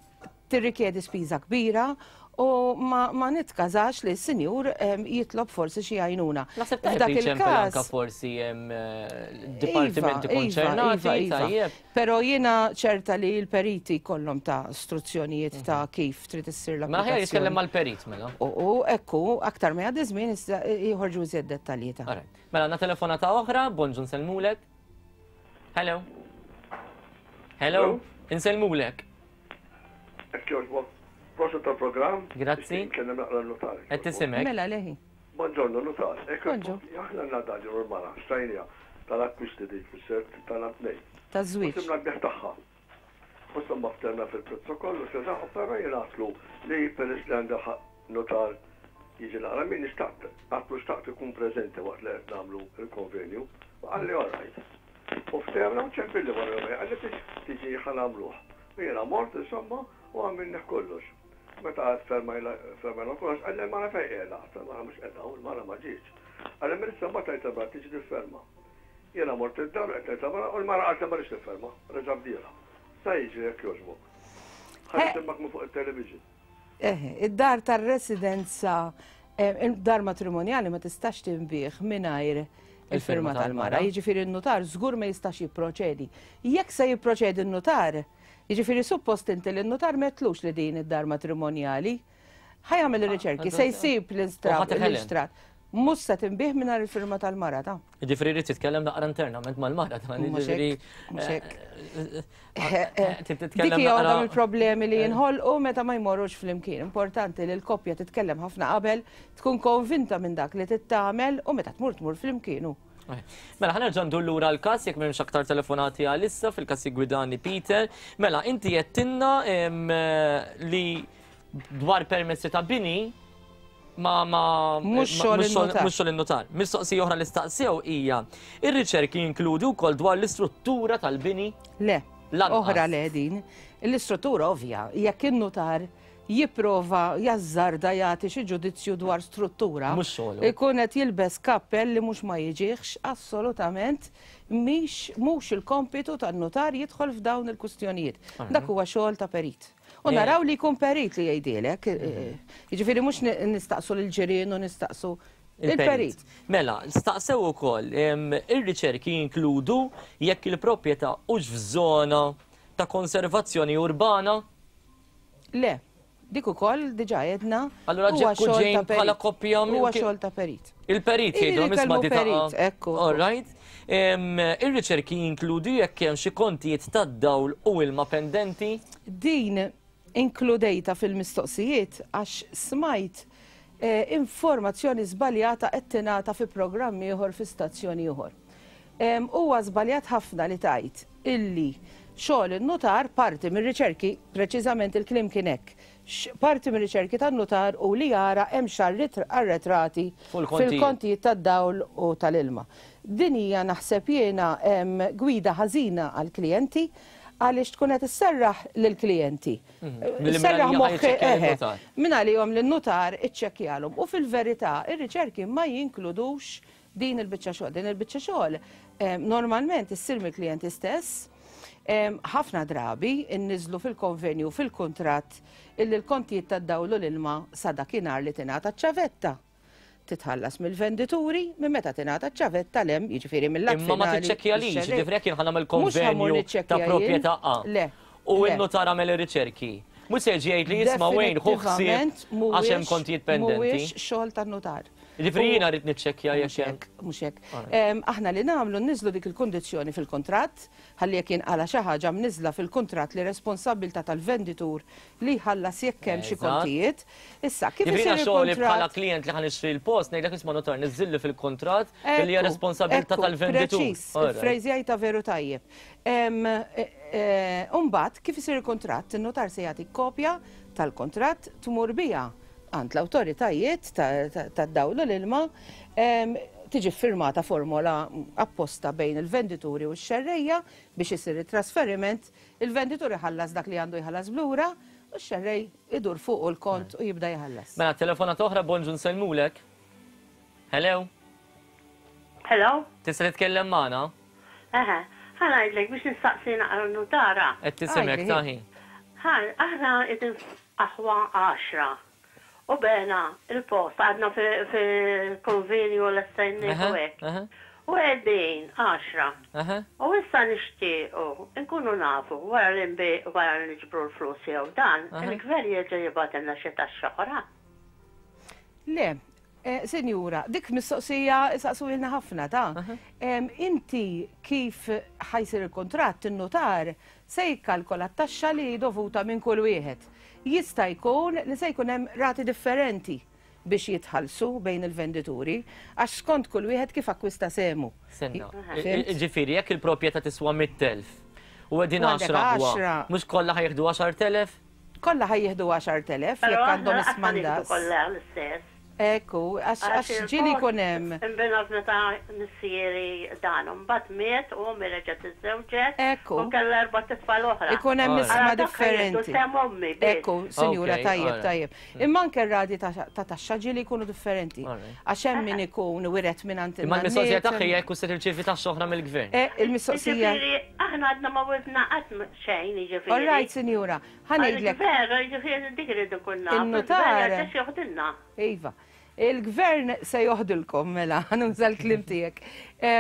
tirrikjedi spiża kbira u ma, ma nitkażax li s-sinjur em, jitlob forsi xi għajnuna. Naħseb tajjeb F'dak li ċempel anka il-każ forsi hemm eh, dipartimenti Iva, konċernati, iva, iva. tajjeb. Però jiena ċerta li l-periti kollhom ta' istruzzjonijiet ta' kif trid issir Mela aħjar jitkellem l-applikazzjoni. mal-perit mela. U u ekku, aktar ma jgħaddi żmien issa joħorġu iżjed dettalji ta' Alright. Mela għandna telefonata oħra, bonġu nsellmulek. Hello. Hello. Insellmulek. Jekk jogħġbok, prosit tal-programm. Grazzi. Nkellem naqra l-notar. Qed tisimek. Mela leħi. Buongiorno, notar. Bonġu. Aħna għandna dar l-mara, xtrajnieha tal-akkwisti dik fis-sert tal-tnejn. Taż-żwieġ. Sibna l-bejgħ tagħha. U insomma ftehemna fil-prezz ukoll u xeża, però jien għedtlu li peress li għandha ħaq notar jiġi naqra min xtaqt, għedtlu xtaqt ikun preżenti waqt li qed nagħmlu il-konvenju. U qalli all right. U ftehemna u ċempilli wara jumejn, qalli tiġi ħa nagħmluh. U jiena mort insomma u għamilna kollox. Meta għad fermajna kollox, qalli l-mara fejn qiegħda, l-mara mhux qiegħda u l-mara ma ġietx. Qalli mela mbagħad tgħid il-mara tiġi tifferma. Jiena mort id-dar qed ngħid il-mara u l-mara qalet ma rridx tifferma, reġa' bdielha. Sa jiġri jekk jogħġbok. Ħa nisimgħek minn fuq il-television. Eh, id-dar tar-residenza, eh, id-dar matrimonjali ma tistax tinbiegħ mingħajr il-firma tal-mara. Jiġifieri n-notar żgur ma jistax jipproċedi. Jekk se jipproċedi n-notar, jiġifieri suppost inti li n-notar m'għedtlux li din id-dar matrimonjali, ħa jagħmel ir-riċerki, se jsib U ħa teħelen. l-istrat. Mhux se tinbiegħ mingħajr il-firma tal-mara ta'. Jiġifieri jrid jitkellem naqra internament mal-mara ta' jiġifieri. Mhux hekk. Dik hija waħda mill-problemi li jinħolqu meta ma jmorrux flimkien. Importanti li l-koppja titkellem ħafna qabel, tkun konvinta minn dak li tittamel u meta tmur tmur flimkien. Mela, ħa nerġa' ndur lura l-każ jekk m'hemmx aktar telefonati għalissa fil-każ jiggwidani Peter. Mela, inti għedtilna li dwar permessi ta' bini ma ma mhux xogħol in-notar. Mistoqsija oħra li staqsew hija, ir-riċerki jinkludu wkoll dwar l-istruttura tal-bini? Le, oħra le din. L-istruttura ovvja, jekk in-notar jipprova jażżarda jagħti xi ġudizzju dwar struttura, ikun qed jilbes kappell li mhux ma jiġihx assolutament mhix mhux il-kompitu tan-notar jidħol f'dawn il-kwistjonijiet. Dak huwa xogħol ta' perit. U naraw li jkun perit li jgħidilek, jiġifieri mhux nistaqsu lill-ġirien u nistaqsu il-perit. Mela, staqsew ukoll ir-riċerki jinkludu jekk il-proprjetà hux f'żona ta' konservazzjoni urbana? Le, dik ukoll diġà għedna. Allura Ġekku ġejn bħala koppja huwa xogħol ta' perit. Il-perit jgħidu isma' di ta' ekku. All right. Ir-riċerki jinkludu jekk hemm xi kontijiet tad-dawl u ilma pendenti? Din inkludejta fil-mistoqsijiet għax smajt informazzjoni żbaljata qed tingħata fi programm ieħor fi stazzjoni ieħor. Huwa żbaljat ħafna li tajt illi xogħol in-notar parti mir-riċerki, preċiżament il-kliem kien hekk, parti mir-riċerki tan-notar u li jara hemm arretrati fil-kontijiet tad-dawl u tal-ilma. Din hija naħseb jiena gwida ħażina għall-klijenti għaliex tkun qed isserraħ lill-klijenti. Isserraħ moħħi minn għalihom li n-notar iċċekkjalhom. U fil-verità ir-riċerki ma jinkludux din il-biċċa xogħol. Din il-biċċa xogħol normalment issir mill-klijenti stess. Ħafna drabi inniżlu fil-konvenju fil-kuntratt illi l-kontijiet tad-dawl u l-ilma sa dakinhar li tingħata ċ-ċavetta titħallas mill-vendituri minn meta tingħata ċ-ċavetta l-hemm, jiġifieri mill-att Imma ma tiċċekkjalix, jiġifieri jekk jien ħa nagħmel konvenju ta' proprjetà A. U n-notar għamel ir-riċerki. Mhux se jiġi jgħid li jisma' wejn ħu ħsieb għax hemm kontijiet pendenti. Mhuwiex xogħol tan-notar. Jiġifieri jiena rrid niċċekkja jekk hemm. Mhux hekk. Aħna li nagħmlu nniżlu dik il-kundizzjoni fil-kuntratt, ħalli jekk jinqala xi ħaġa mniżla fil-kuntratt li responsabbiltà tal-venditur li jħallas jekk hemm xi kontijiet. Issa kif isir il-kuntratt? Bħala klient li ħa nixtri l-post ngħidlek isma' notar niżilli fil-kuntratt li hija responsabbiltà tal-venditur. Preċiż, il-frejżjajta veru tajjeb. Imbagħad kif isir il-kuntratt, in-notar se jagħti kopja tal-kuntratt tmur biha għand l-awtoritajiet tad-dawl u l-ilma, tiġi firmata formola apposta bejn il-vendituri u x-xerrejja biex isir it-trasferiment, il-venditur iħallas dak li għandu jħallas blura u x-xerrej idur fuq il-kont u jibda jħallas. Mela, telefonata oħra, bonġu nsellmulek. Hello. Hello. Tista' titkellem magħna? Eħe, ħa ngħidlek biex nistaqsi naqra n-nutara. Qed tisimgħek taħi. Ħa, aħna qegħdin aħwa għaxra. U bena il-post għadna fil-konvenju l-essenni u hekk. U qegħdin għaxra. U issa nixtiequ nkunu nafu wara li wara li niġbru l-flus jew dan, il-gvern jerġa' jibgħatilna xi taxxa oħra. Le, sinjura, dik mistoqsija saqsuilna ħafna ta' inti kif ħajsir il-kontratt in-notar se jikkalkola t-taxxa li dovuta minn kull wieħed. Jista' jkun li se jkun hemm rati differenti biex jitħallsu bejn il-vendituri għax skont kull wieħed kif akkwista semu. Senna. Ġifieri jekk il-proprjetà tiswa mitt elf u qegħdin għaxra mhux kollha ħa jieħdu għaxart elef? Kollha ħa jieħdu għaxart elef jekk għandhom ismandas. Kollha l-istess. Ekku, għax ġieli jkun hemm. Imbena meta missieri dan, mbagħad miet u ommi reġgħet iżżewġet. Ekku. U kellha erba' tfal oħra. Ikun hemm isma differenti. Ekku, sinjura, tajjeb, tajjeb. Imma anke r-rati ta' taxxa ġieli jkunu differenti. Għax hemm min ikun wiret minn għand Imma l-mistoqsija tagħha hija jekk se tirċievi taxxa oħra mill-gvern. Il-mistoqsija. Aħna għadna ma wirtna qatt xejn, jiġifieri. All right, sinjura, ħa ngħidlek. Veru, jiġifieri dik irid ikun naf. In-notar. Joħdilna. Iva. Il-gvern se joħdilkom mela, nuża l-kliem tiegħek.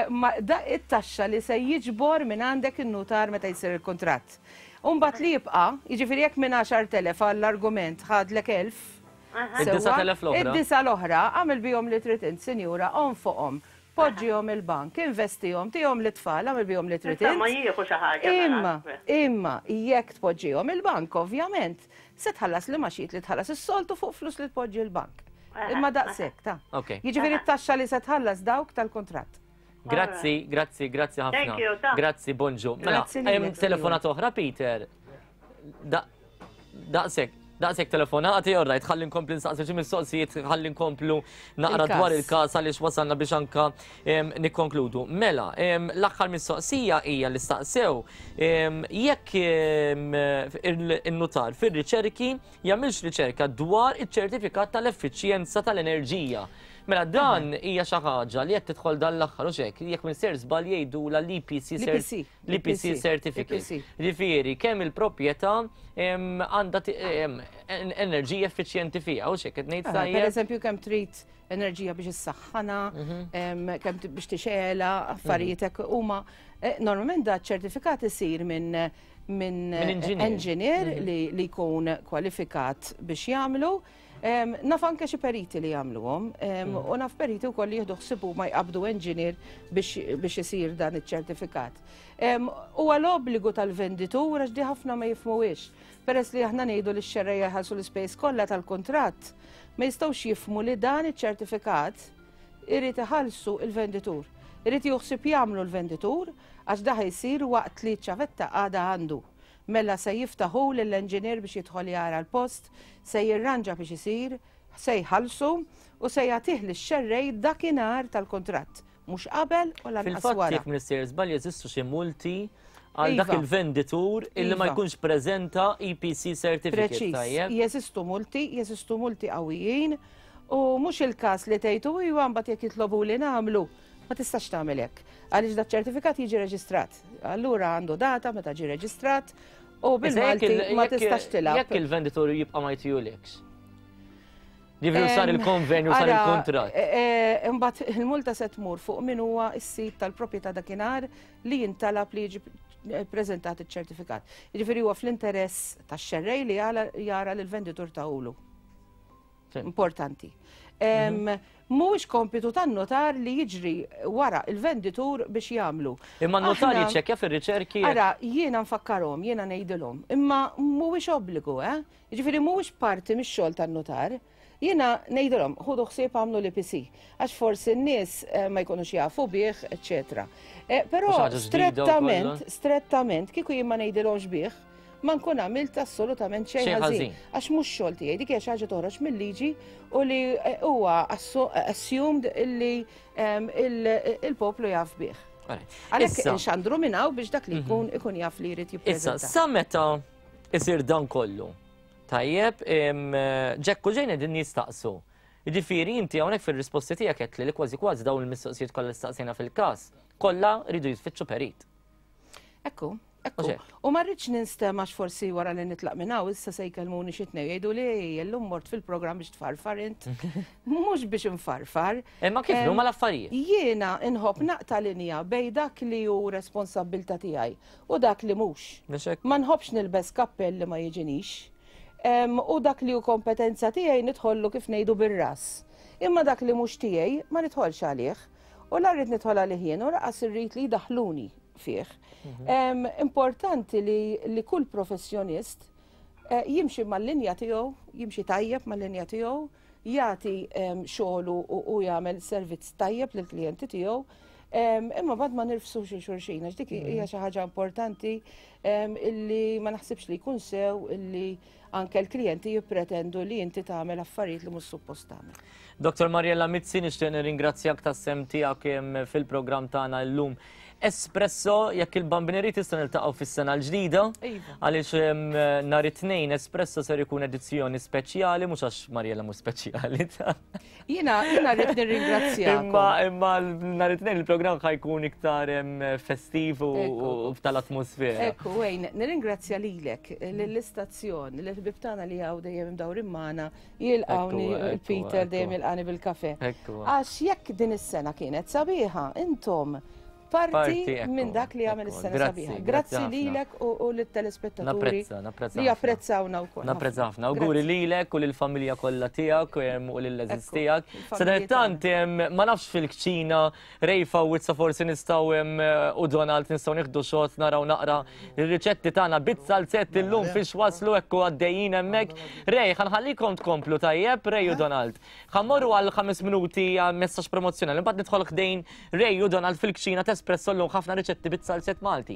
Ma da it-taxxa li se jiġbor minn għandek in-notar meta jsir il-kuntratt. U mbagħad li jibqa', jiġifieri jekk minn għaxart elef għall-argument ħadlek elf, Id-disa' telef l-oħra. Id-disa' l-oħra, għamil bihom li trid int, sinjura, onfoqhom, poġġihom il-bank, investihom, tihom lit-tfal, għamil bihom li trid int. Ma jieħu xi ħaġa. Imma, imma, jekk tpoġġihom il-bank, ovvjament, se tħallas li maxiet li tħallas is-soltu fuq flus li tpoġġi l-bank. Imma daqshekk, ta. Jiġifieri t-taxxa li se tħallas dawk tal-kuntratt. Grazzi, grazzi, grazzi ħafna. Grazzi, bonġu. Mela, hemm telefonata oħra, Peter. Daqshekk, daqshekk telefonati, all right, ħalli nkomplu nsaqsi xi mistoqsijiet, ħalli nkomplu naqra dwar il-każ għaliex wasalna biex anka nikkonkludu. Mela, l-aħħar mistoqsija hija li staqsew jekk in-nutar fir-riċerki jagħmilx riċerka dwar iċ-ċertifikat tal-effiċjenza tal-enerġija. Mela dan hija xi ħaġa li qed tidħol dan l-aħħar u xek, jekk minn ser żball jgħidula l-E P C l-E P C certificate. Ġifieri kemm il-proprjetà għandha enerġija effiċjenti fiha u xek qed ngħid tajjeb. Pereżempju kemm trid enerġija biex issaħħana, kemm biex tixgħelha, affarijiet hekk huma normalment da ċertifikat isir minn minn engineer li jkun kwalifikat biex jagħmlu. Naf anke xi periti li jagħmluhom, u naf periti wkoll li jieħdu ħsibu ma jqabdu engineer biex isir dan iċ-ċertifikat. Huwa l-obbligu tal-venditur għax di ħafna ma jifhmuhiex. Peress li aħna ngħidu li x-xerrejja jħallsu l-ispejjeż kollha tal-kuntratt, ma jistgħux jifhmu li dan iċ-ċertifikat irid iħallsu l-venditur. Irid juħsib jagħmlu l-venditur għax da ħajsir waqt li ċ-ċavetta għadha għandu. Mela se jiftaħu lill-enġinier biex jidħol jara l-post, se jirranġa biex isir, se jħallsu u se jagħtih lix-xerrej dakinhar tal-kuntratt, mhux qabel u lanqas wara. Fil-fatt jekk Minister żball jeżistu xi multi għal dak il-venditur illi ma jkunx preżenta E P C certificate. Preċiż, jeżistu multi, jeżistu multi qawwijin u mhux il-każ li tgħidu iwa mbagħad jekk jitlobu li nagħmlu. Ma tistax tagħmel hekk. Għaliex dak ċertifikat jiġi reġistrat. Allura għandu data meta ġi reġistrat u bil-Malti ma tistax tilgħab. Jekk il-venditur jibqa' ma jtijulekx. Ġifieri sar il-konvenju, sar il-kuntratt. Imbagħad il-multa se tmur fuq min huwa s-sid tal-proprjetà dakinhar li jintalab li jiġi ppreżentat iċ-ċertifikat. Jiġifieri huwa fl-interess tax-xerrej li jara lill-venditur tawlu. Importanti. Mhuwiex kompitu tan-notar li jiġri wara il-venditur biex jagħmlu. Imma n-notar jiċċekkja fir-riċerki. Ara, jiena nfakkarhom, jiena ngħidilhom, imma mhuwiex obbligu, eh? Jiġifieri mhuwiex parti mix-xogħol tan-notar. Jiena ngħidilhom, ħudu ħsieb għamlu l-E P C, għax forsi n-nies ma jkunux jafu bih, eċċetera. Però strettament, strettament, kieku jien ma ngħidilhomx bih, ma nkun għamilt assolutament xejn ħażin. Għax mhux xogħol tiegħi, dik hija xi ħaġa toħroġ mill-liġi u li huwa assumed illi il-poplu jaf bih. Għalhekk inxandru minn hawn biex dak li jkun ikun jaf li jrid jippreżenta. Issa, sa meta isir dan kollu? Tajjeb, Ġekku ġejna din jistaqsu. Jiġifieri inti hawnhekk fir-risposti tiegħek qed li kważi kważi dawn il-mistoqsijiet kollha li staqsejna fil-każ, kollha rridu jitfittxu perit. Ekku. Ekku, u ma rridx ninstema' forsi wara li nitlaq minn hawn issa se jkellmuni xi tnejn jgħidu li llum mort fil-programm biex tfarfar int. Mhux biex infarfar. Imma kif huma l-affarijiet? Jiena nħobb naqta' linja bejn dak li hu responsabbiltà tiegħi u dak li mhux. Ma nħobbx nilbes kappell li ma jiġinix. U dak li hu kompetenza tiegħi nidħollu kif ngħidu bir-ras. Imma dak li mhux tiegħi ma nidħolx għalih. U la rrid nidħol għalih jien u laqas irrid li jdaħħluni fih. Importanti li kull professjonist jimxi mal-linja tiegħu, jimxi tajjeb mal-linja tiegħu, jagħti xogħlu u jagħmel servizz tajjeb lill-klijenti tiegħu. Imma bad ma nirfsux il xulxin, għax dik hija xi ħaġa importanti illi ma naħsibx li jkun sew illi anke l-klijenti jippretendu li inti tagħmel affarijiet li mhux suppost tagħmel. Doktor Mariella Mizzi, nixtieq nirringrazzjak tas-sem tiegħek fil-programm tagħna llum Espresso, jekk il-bambineri tista' niltaqgħu fis-sena l-ġdida, għaliex nhar it-tnejn Espresso ser ikun edizzjoni speċjali, mhux għax Mariella mhux speċjali. Jiena jiena rrid nirringrazzjakom. Imma imma nhar it-tnejn il-programm ħajkun iktar festiv u tal-atmosfera. Ekku, Wayne, nirringrazzja lilek, lill-istazzjon, lill-ħbieb tagħna li hawn dejjem imdawrin magħna, jilqawni Peter dejjem jilqani bil-kafe. Għax jekk din is-sena kienet sabiħa, intom parti minn dak li għamel is-sena sabiħa. Grazzi lilek u lit-telespettaturi li japprezzawna wkoll. Napprezza ħafna. Awguri lilek u lill-familja kollha tiegħek u lill-għeżież tiegħek. Sadanittant ma nafx fil-kċina Rejfa u Wizza forsi nistgħu u Donald nistgħu nieħdu xot naraw naqra ir-riċetti tagħna bit-salzett illum fiex waslu hekk u għaddejjin hemmhekk. Rej, ħa nħallikom tkomplu tajjeb, Rej u Donald. Ħa mmorru għal ħames minuti għal messaġġ promozzjonali, imbagħad nidħol ħdejn Rej u Donald fil-kċina Espresso llum ħafna riċetti bit-salzett Malti.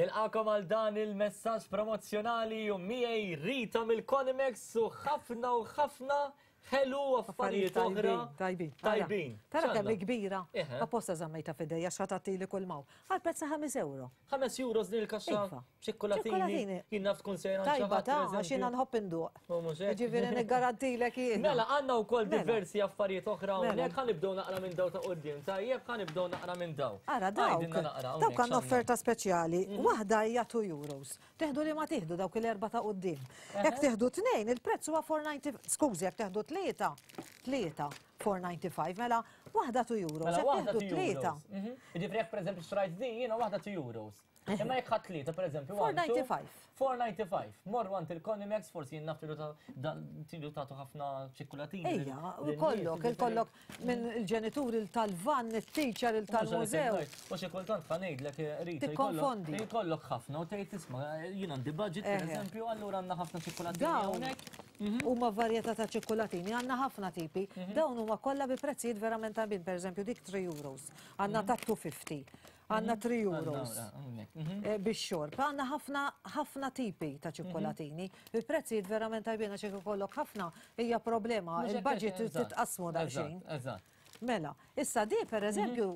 Nilqakom għal dan il-messaġġ promozzjonali u miegħi Rita mill-Conimex u ħafna u ħafna ħelu affarijiet oħra. Tajbin. Tajbin. Tara kemm kbira. Apposta żammejta f'idejja x'ħatatili kull maw. Għal prezz ta' ħames euro. Ħames euros din il-kaxxa ċikkolatini. Jien naf tkun sejra Tajba ta' għax jiena nħobb induq. Ġifieri niggarantilek jien. Mela għandna wkoll diversi affarijiet oħra hawnhekk ħa nibdew naqra minn daw ta' quddiem. Tajjeb ħa nibdew naqra minn daw. Ara dawk. Dawk għandna offerta speċjali. Waħda hija two euros. Teħdu li ma tieħdu dawk il-erba' ta' quddiem. Jekk tieħdu tnejn il-prezz huwa four ninety, skużi jekk teħdu tlieta, tlieta four ninety-five, mela waħda two euros. Mela waħda two euros. Jiġifieri jekk pereżempju xtrajt din jiena waħda two euros. Imma jekk ħadd tlieta pereżempju four ninety-five. four ninety-five. Morru għand il-Conimex forsi jien naf tridu tagħtu ħafna ċikkulatini. Ejja, u kollok, il-kollok minn il-ġenituri tal-van, it-teacher tal-mużew. U xi kultant ħa ngħidlek Rita. Tikkonfondi. Jkollok ħafna u tgħid isma' jien għandi budget pereżempju allura għandna ħafna ċikkulatini hawnhekk. Huma varjetà ta' ċikkulatini, għandna ħafna tipi. Dawn huma kollha bi prezzijiet verament tajbin, pereżempju dik three euros, għandna ta' two fifty. Għandna three euros bix-xorb. Għandna ħafna ħafna tipi ta' ċikkolatini. Il-prezzijiet verament tajbin għax jekk ikollok ħafna hija problema, il-budget titqasmu daqsxejn. Mela, issa di pereżempju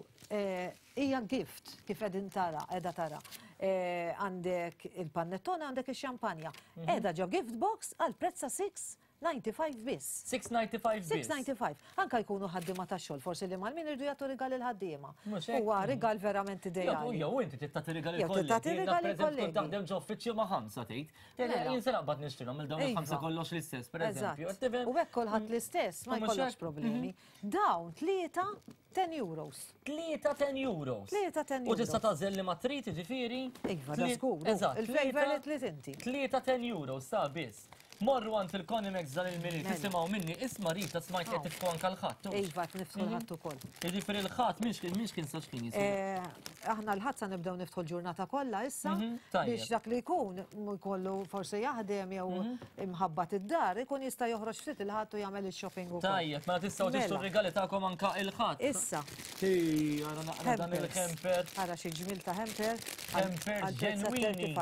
hija gift kif qegħdin tara, qiegħda tara. Għandek il-panettone, għandek ix-xampanja. Qiegħda ġo gift box għal prezz ta' six ninety-five biss. six ninety-five biss. six ninety-five. Anka jkunu ħaddiema tax-xogħol, forsi li mal-min irdu jagħtu rigal il-ħaddiema. Huwa rigal verament ideali. Jew inti trid tagħti rigal il-kollegi. Tagħti rigal il-kollegi. Taħdem ġo uffiċċju ma' ħamsa tgħid. Jien se naqbad nixtrilhom il dawn il-ħamsa kollox l-istess, pereżempju. U hekk kulħadd l-istess, ma jkollokx problemi. Dawn tlieta ten euros. Tlieta ten euros. Tlieta ten euros. U tista' tagħżel li ma trid, jiġifieri. Iva, da żgur. Il-flavor li trid inti. Tlieta ten euros sa biss. Morru għand il-Conimex dan il-Milied, tisimgħu minni, isma' Rita smajt qed tiftħu anke l-ħadd. Iva, niftħu l-ħadd ukoll. Jiġifieri l-ħadd minn kien sa x'kien jisir. Aħna l-ħadd sa nibdew niftħu l-ġurnata kollha issa biex dak li jkun jkollu forsi jaħdem jew imħabbat id-dar, ikun jista' joħroġ ftit il-ħadd u jagħmel ix-shopping ukoll. Tajjeb, mela tistgħu tixtru r-rigali tagħkom anke il-ħadd. Issa. Ara naqra dan il-hamper. Ara xi ġmiel ta' hamper. Hampers ġenwini.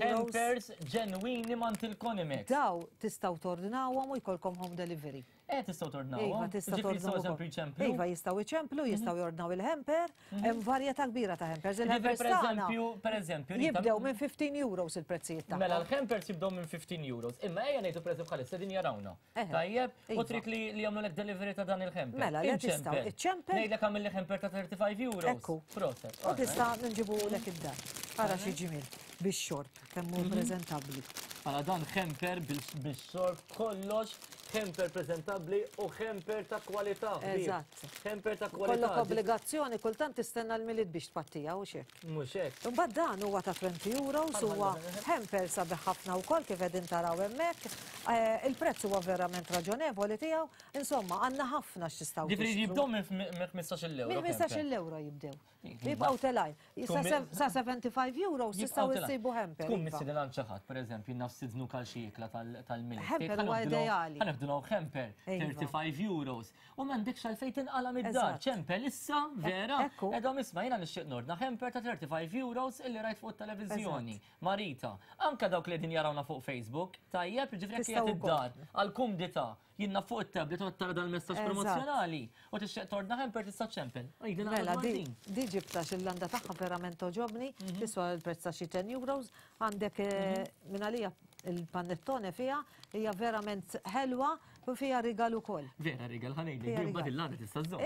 Hampers ġenwini m'għand il-Conimex. Daw tistgħu tordnawhom u jkollkom home delivery. Eh, tistgħu tordnawhom. Iva, tistgħu tordnawhom. Iva, jistgħu iċemplu, jistgħu jordnaw il-hamper, hemm varjetà kbira ta' hampers. Il-hampers tagħna pereżempju, jibdew minn fifteen euros il-prezzijiet tagħhom. Mela l-hampers jibdew minn fifteen euros. Imma ejja ngħidu pereżempju bħalissa din jarawna. Tajjeb, u trid li jagħmlulek delivery ta' dan il-hamper. Mela, le tistgħu iċċempel. Ngħidlek għamilli hamper ta' thirty-five euros. Ekku. Proset. U tista' nġibulek id-dar. Ara xi ġmiel bix-xorb kemm hu preżentabbli. Għala dan hamper bil-xorb kollox, hamper prezentabbli u hamper ta' kwalità. Eżatt. Hamper ta' kwalità. Kollok obbligazzjoni kultant tistenna l-Milied biex tpattija u xek. Mhux hekk. Imbagħad dan huwa ta' twenty euros, huwa hamper sabiħ ħafna wkoll kif qegħdin taraw hemmhekk. Il-prezz huwa verament raġonevoli tiegħu. Insomma, għandna ħafna x'tistgħu. Ġifieri jibdew minn ħmistax-il euro. Minn ħmistax-il euro jibdew. Jibqgħu telgħin. Sa seventy-five euros tistgħu issibu hamper. Tkun mistieden għand xi ħadd, pereżempju, naf sidnu għal xi ikla tal-Milied. Hamper huwa ideali. Ħa nieħdu hamper thirty-five euros. U m'għandekx għalfejn tinqala' mid-dar. Ċempel issa, vera, edhom isma' jiena nixtieq nordna hamper ta' thirty-five euros illi rajt fuq it-televiżjoni. Marita, anke dawk li qegħdin jarawna fuq Facebook, tajjeb, jiġifieri jekk qiegħed id-dar għall-kumdità jiena fuq it-tablet u tara dal-messaġġ promozzjonali u tixtieq tordna hamper tista' ċempel. Mela di ġibta xil-landa tagħha verament toġobni, tiswa l-prezz ta' xi ten euros, għandek minn għalija Il-panettone fiha hija verament ħelwa u fiha rigal ukoll. Vera rigal ħa ngħidlek, mbagħad il-laned tista' żżomm.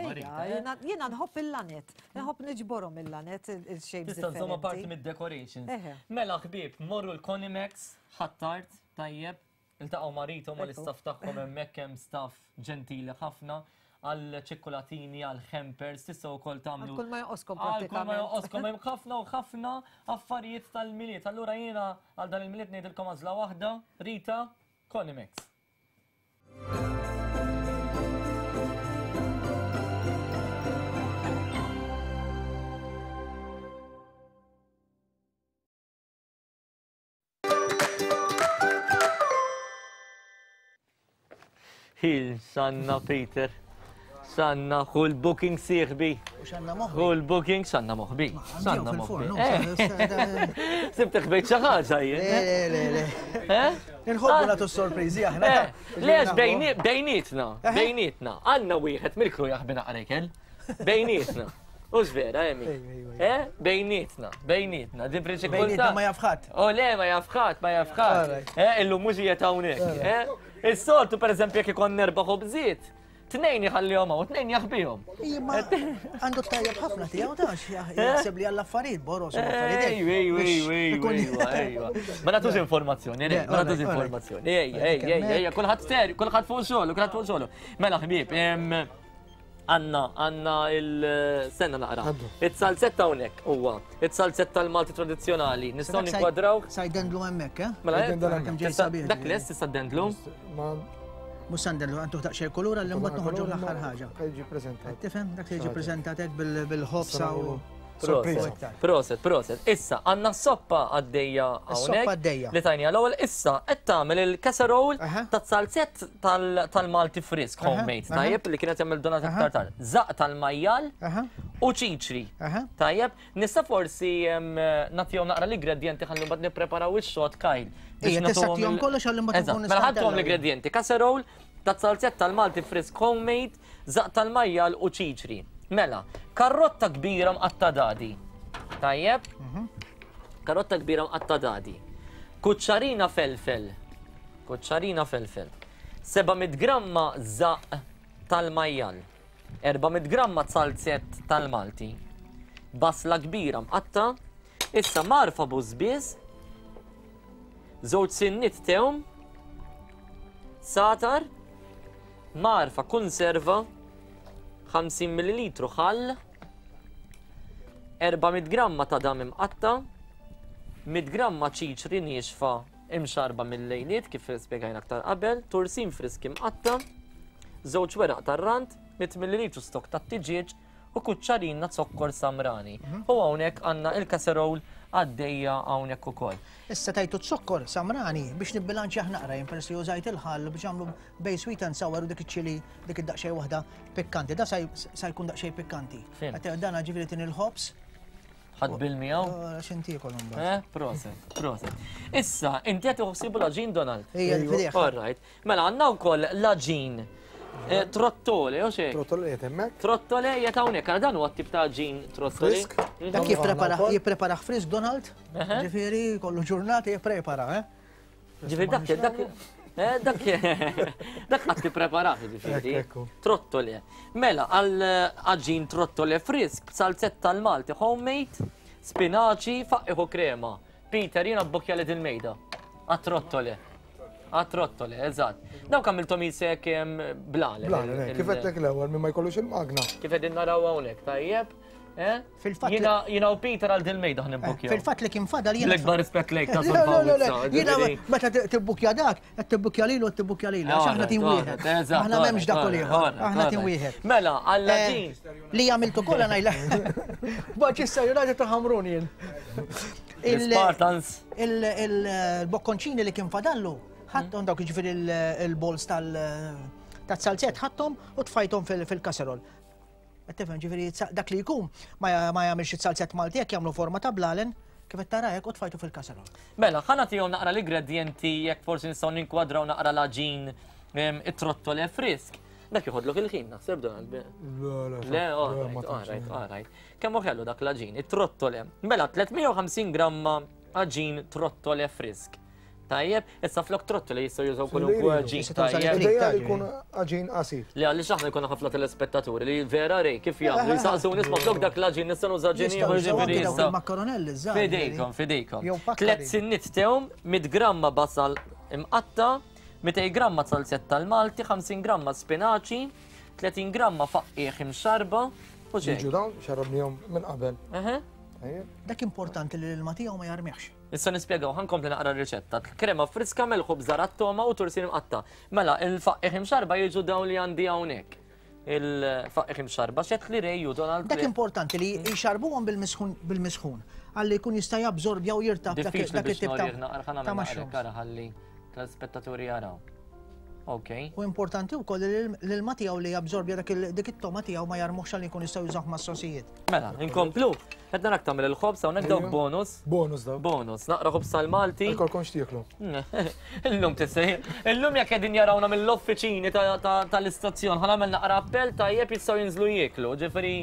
Jiena nħobb il-laned, nħobb niġborhom il-laned il-shapes. Tista' żżommha parti mid-decorations. Mela ħbieb, morru l-Conimex, Ħ'Attard, tajjeb, iltaqgħu ma' Rita u mal-istaff tagħhom hemmhekk hemm staff ġentili ħafna għal ċikkulatini, għal hampers, tistgħu wkoll tagħmlu. Għal kull ma jonqoskom Għal kull ma jonqoskom hemm ħafna u ħafna affarijiet tal-Milied. Allura jiena għal dan il-Milied ngħidilkom għażla waħda, Rita, Conimex. Hil, sanna Peter. Sanna, hu l-booking sieħbi. Hu l-booking, sanna moħbi. Sanna moħbi. Sibtek bejt xi ħaġa jien. Le, le, le. Inħobbu nagħtu sorpriżi aħna. Le, bejnietna, bejnietna. Għandna wieħed mill-kru jaħbi naqra ikel. Bejnietna. Ux vera, Emi? Eh? Bejnietna, bejnietna. Din prinċipju. Bejnietna ma jafħat. Oh, le, ma jafħat, ma jafħat. Eh, illum mhux qiegħed hawnhekk. Eh? Is-soltu pereżempju jekk ikun nerba' ħobżiet, tnejn jħallihom hawn, tnejn jaħbihom. Imma għandu tajjeb ħafna tiegħu tax jaħseb li għall-affarijiet boros u affarijiet. Ejwa, ejwa, ejwa, ejwa, ejwa. Ma nagħtux informazzjoni, ma nagħtux informazzjoni. Ejja, ejja, ejja, kulħadd ser, kulħadd fuq xogħol, kulħadd fuq xogħol. Mela ħbieb, għanna, għanna il-sena naqra. It-salzetta hawnhekk huwa, it-salzetta tal-Malti tradizzjonali. Nistgħu ninkwadraw. Sa jdendlu hemmhekk, eh? Mela, dak lest tista' dendlu? Mhux sandelu, għandu daqsxejn kulura li mbagħad noħorġu l-aħħar ħaġa. Jiġi preżentat. Tifhem, dak li jiġi preżentat hekk bil-ħobsa u Proset, proset, proset. Issa, għandna s-soppa għaddejja hawnhekk. Li tajnija l-ewwel issa qed tagħmel il-casserole tat-salzett tal-Malti frisk homemade, tajjeb li kienet jagħmel Donat aktar tard. Żaqq tal-majjal u ċiċri. Tajjeb, nista' forsi nagħtihom naqra l-ingredjenti ħalli mbagħad nippreparaw ix-xot Kyle. Ejja, tista' tihom kollox ħalli mbagħad nkun Mela ħadthom l-ingredjenti, casserole tat-salzett tal-Malti frisk homemade, żaqq tal-majjal u ċiċri. Mela, karrotta kbira mqatta dadi. Tajjeb? Karrotta kbira mqatta dadi. Kuċċarina felfel. Kuċċarina felfel. seba' mitt gramma żaqq tal-majjal. erba' mitt gramma salzett tal-Malti. Basla kbira mqatta. Issa marfa bużbież. Żewġ sinniet tewm. Satar. Marfa konserva. ħamsin millilitru ħall, erba' mitt gramma ta' dam imqatta, mitt gramma ċiċri niexfa imxarba mill-lejliet kif spjegajna aktar qabel, tursin frisk imqatta, żewġ weraq tar-rand, mitt millilitru stok tat-tiġieġ u kuċċarina zokkor samrani. U hawnhekk għandna il-casserole għaddejja hawnhekk ukoll. Issa tajtu zokkor samrani biex nibbilanċjah naqra jien peress li użajt il-ħall biex għamlu bej sweet and sour u dik iċ-ċili dik id-daqsxejn waħda pikkanti. Da sa jkun daqsxejn pikkanti. Dan ġifieri tin il-ħobs. Ħadd bil miegħu? X'inti jkollhom mbagħad. Eh, proset, proset. Issa, inti qed tħossibu l-aġin Donald. Ejja, fidejh. All right. Mela għandna wkoll l-aġin Trottole, o xejn? Trottole qiegħed hemmhekk. Trottole qiegħed hawnhekk, ara dan huwa t-tip ta' aġin trottole. Frisk. Dak jipprepara jipprepara frisk Donald. Ġifieri kollu ġurnata jipprepara, eh? Ġifieri dak dak dak dak qatt tippreparah ġifieri. Trottole. Mela għal aġin trottole frisk b'salzetta tal-Malti homemade, spinaċi, faqqiħu krema. Peter jiena bbukkja li il-mejda. Għat-trottole. Għat-trottole, eżatt. Dawk għamilthom jisek blale. Blale, kif għedtlek l-ewwel minn ma jkollux il-magna. Kif qegħdin naraw hawnhekk, tajjeb? Jiena u Peter għal dil-mejda ħnibbukja. Fil-fatt li kien fadal jiena. L-ikbar rispett lejk ta' Sol Jiena meta tibbukja dak, qed tibbukja lilu qed tibbukja lilu, għax aħna tim wieħed. Aħna m'hemmx dak u ieħor, aħna tim wieħed. Mela, għal din. Li għamiltu kollha ngħidla. Manchester United ta' Ħamrun jien. Spartans. Il-bokkonċini li kien fadallu, ħadthom dawk jiġifieri il-balls tal-salzett ħadthom u tfajthom fil-kasserol. Tifhem ġifieri dak li jkun ma jagħmilx it-salzett Malti jekk jagħmlu forma ta' blalen kif qed tara hekk u tfajtu fil-kasserol. Mela, ħa nagħtihom naqra l-ingredjenti jekk forsi nistgħu ninkwadraw naqra l-aġin it-trottole frisk. Dak joħodlok il-ħin, naħseb Donald. Le, all right, all right. Kemm hu ħelu dak l-aġin, it-trottole. Mela, tliet mija u ħamsin gramma aġin trottole frisk. Tajjeb, issa flok trottoli jistgħu jużaw kwalunkwe għaġin. Tajjeb. Ideali jkun għaġin qasir. Li għaliex aħna jkollna ħafna telespettaturi li vera rej kif jagħmlu jisaqsu nisma' flok dak l-għaġin nista' nuża għaġin ieħor ġifieri issa. Makkaronelli żgħar. Fidejkom, fidejkom. Tliet sinnit tewm, mitt gramma basal imqatta, mitej gramma salzett tal-Malti, ħamsin gramma spinaċi, tletin gramma faqqiegħ imxarba u xejn. Jiġu dawn xarrabnihom minn qabel. Dak importanti li l-ilma tiegħu ma jarmihx. Issa nispjegaw, ħankompli naqra r-riċetta. Krema friska, melħ u bżar għat-toma u tursin imqatta. Mela, il-faqqiegħ imxarba jiġu dawn li għandi hawnhekk. Il-faqqiegħ imxarba, xed li Ray u Donald. Dak importanti li jxarbuhom bil-misħun bil-misħun għalli jkun jista' jabsorbja u jirtab dak it-tip ta' mushroom. Ħalli tal-spettaturi jaraw. Ok. U importanti wkoll li l-ilma tiegħu li jabsorbja dik it-toma tiegħu ma jarmuhx għalli jkun jistgħu jużawh mas-sosijiet. Mela, inkomplu. Qed narak tagħmel il-ħobż hawnhekk dawk bonus. Bonus dawk. Bonus. Naqra ħobż tal-Malti. Ikolkom x'tieklu. Illum tissej. Illum jekk qegħdin jarawna mill-uffiċini tal-istazzjon, ħa nagħmel naqra appell tajjeb jistgħu jinżlu jieklu. Ġifieri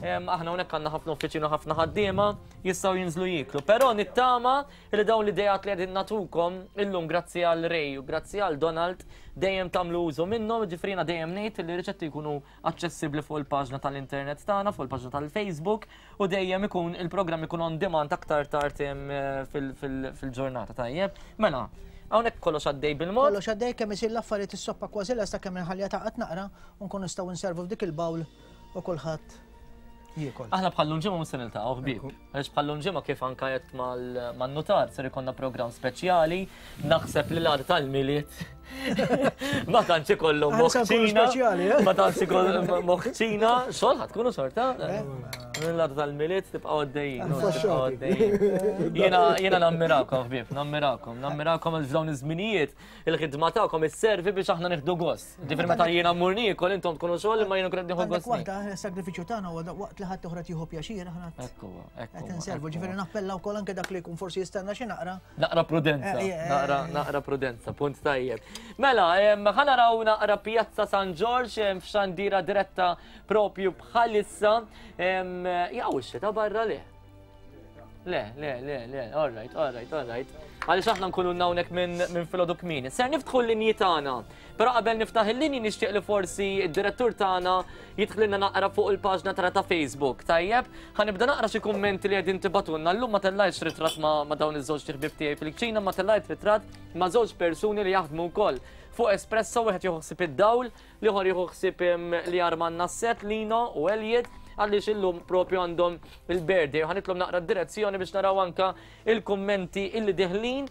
aħna hawnhekk għandna ħafna uffiċini u ħafna ħaddiema jistgħu jinżlu jieklu. Però nittama li dawn l-idejat li qegħdin nagħtukom illum grazzi għal Ray u grazzi għal Donald dejjem tagħmlu użu minnhom, ġifieri jiena dejjem ngħid li r-riċetti jkunu aċċessibbli fuq il-paġna tal-internet tagħna, fuq il-paġna tal-Facebook u dejjem ikun il-programm ikun on demand aktar tard fil-ġurnata tajjeb. Mela, hawnhekk kollox għaddej bil-mod. Kollox għaddej kemm isir l-affarijiet is-soppa kważi lesta kemm inħallija taqgħod naqra u nkun nistgħu nservu f'dik il-bawl u kulħadd jiekol. Aħna bħal ġimgħa mhux se niltaqgħu ħbieb. Għaliex bħal ġimgħa kif anke qed man-nutar ser ikollna programm speċjali, naħseb li l-għada tal-Milied ma tantx ikollhom moħħ ċina. Ma tantx ikollhom moħħ ċina, xogħol ħadd tkunu xorta. L-għada tal-Milied tibqgħu għaddejjin. Jiena jiena nammirakom ħbieb, nammirakom, nammirakom għal f'dawn iż-żminijiet il-ħidma tagħkom isservi biex aħna nieħdu gost. Ġifieri meta jiena mmur niekol intom tkunu xogħol imma jiena nkun qed nieħu gost. Waħda s-sagrifiċċju tagħna huwa waqt li ħadd oħra tieħu pjaċir aħna. Ekku, ekku. Qed inservu, ġifieri nappella wkoll anke dak li jkun forsi jistenna xi naqra. Naqra prudenza, naqra naqra prudenza, punt tajjeb. Mela, ħa naraw naqra Pjazza San Ġorġ f'xandira diretta propju bħalissa. Jaw ix-xita barra le. Le, le, le, le, all right, all right, all right. Għaliex aħna nkunu hawnhekk minn filgħodu kmieni. Ser niftħu l-linji tagħna. Però qabel niftaħ il-linji nixtieq li forsi d-direttur tagħna jidħlilna naqra fuq il-paġna tagħna ta' Facebook. Tajjeb, ħa nibda naqra xi kummenti li qegħdin tibatulna. Llum ma tellajtx ritratt ma' dawn iż-żewġ ħbieb tiegħi fil-kċina, ma tellajt ritratt ma' żewġ persuni li jaħdmu wkoll fuq Espresso, wieħed jieħu ħsieb id-dawl, l-ieħor jieħu ħsieb li jarmanna s-set Lino u Elliot, għaliex illum propju għandhom il-birthday. Ħa nitlob naqra d-direzzjoni biex naraw anka il-kummenti illi diħlin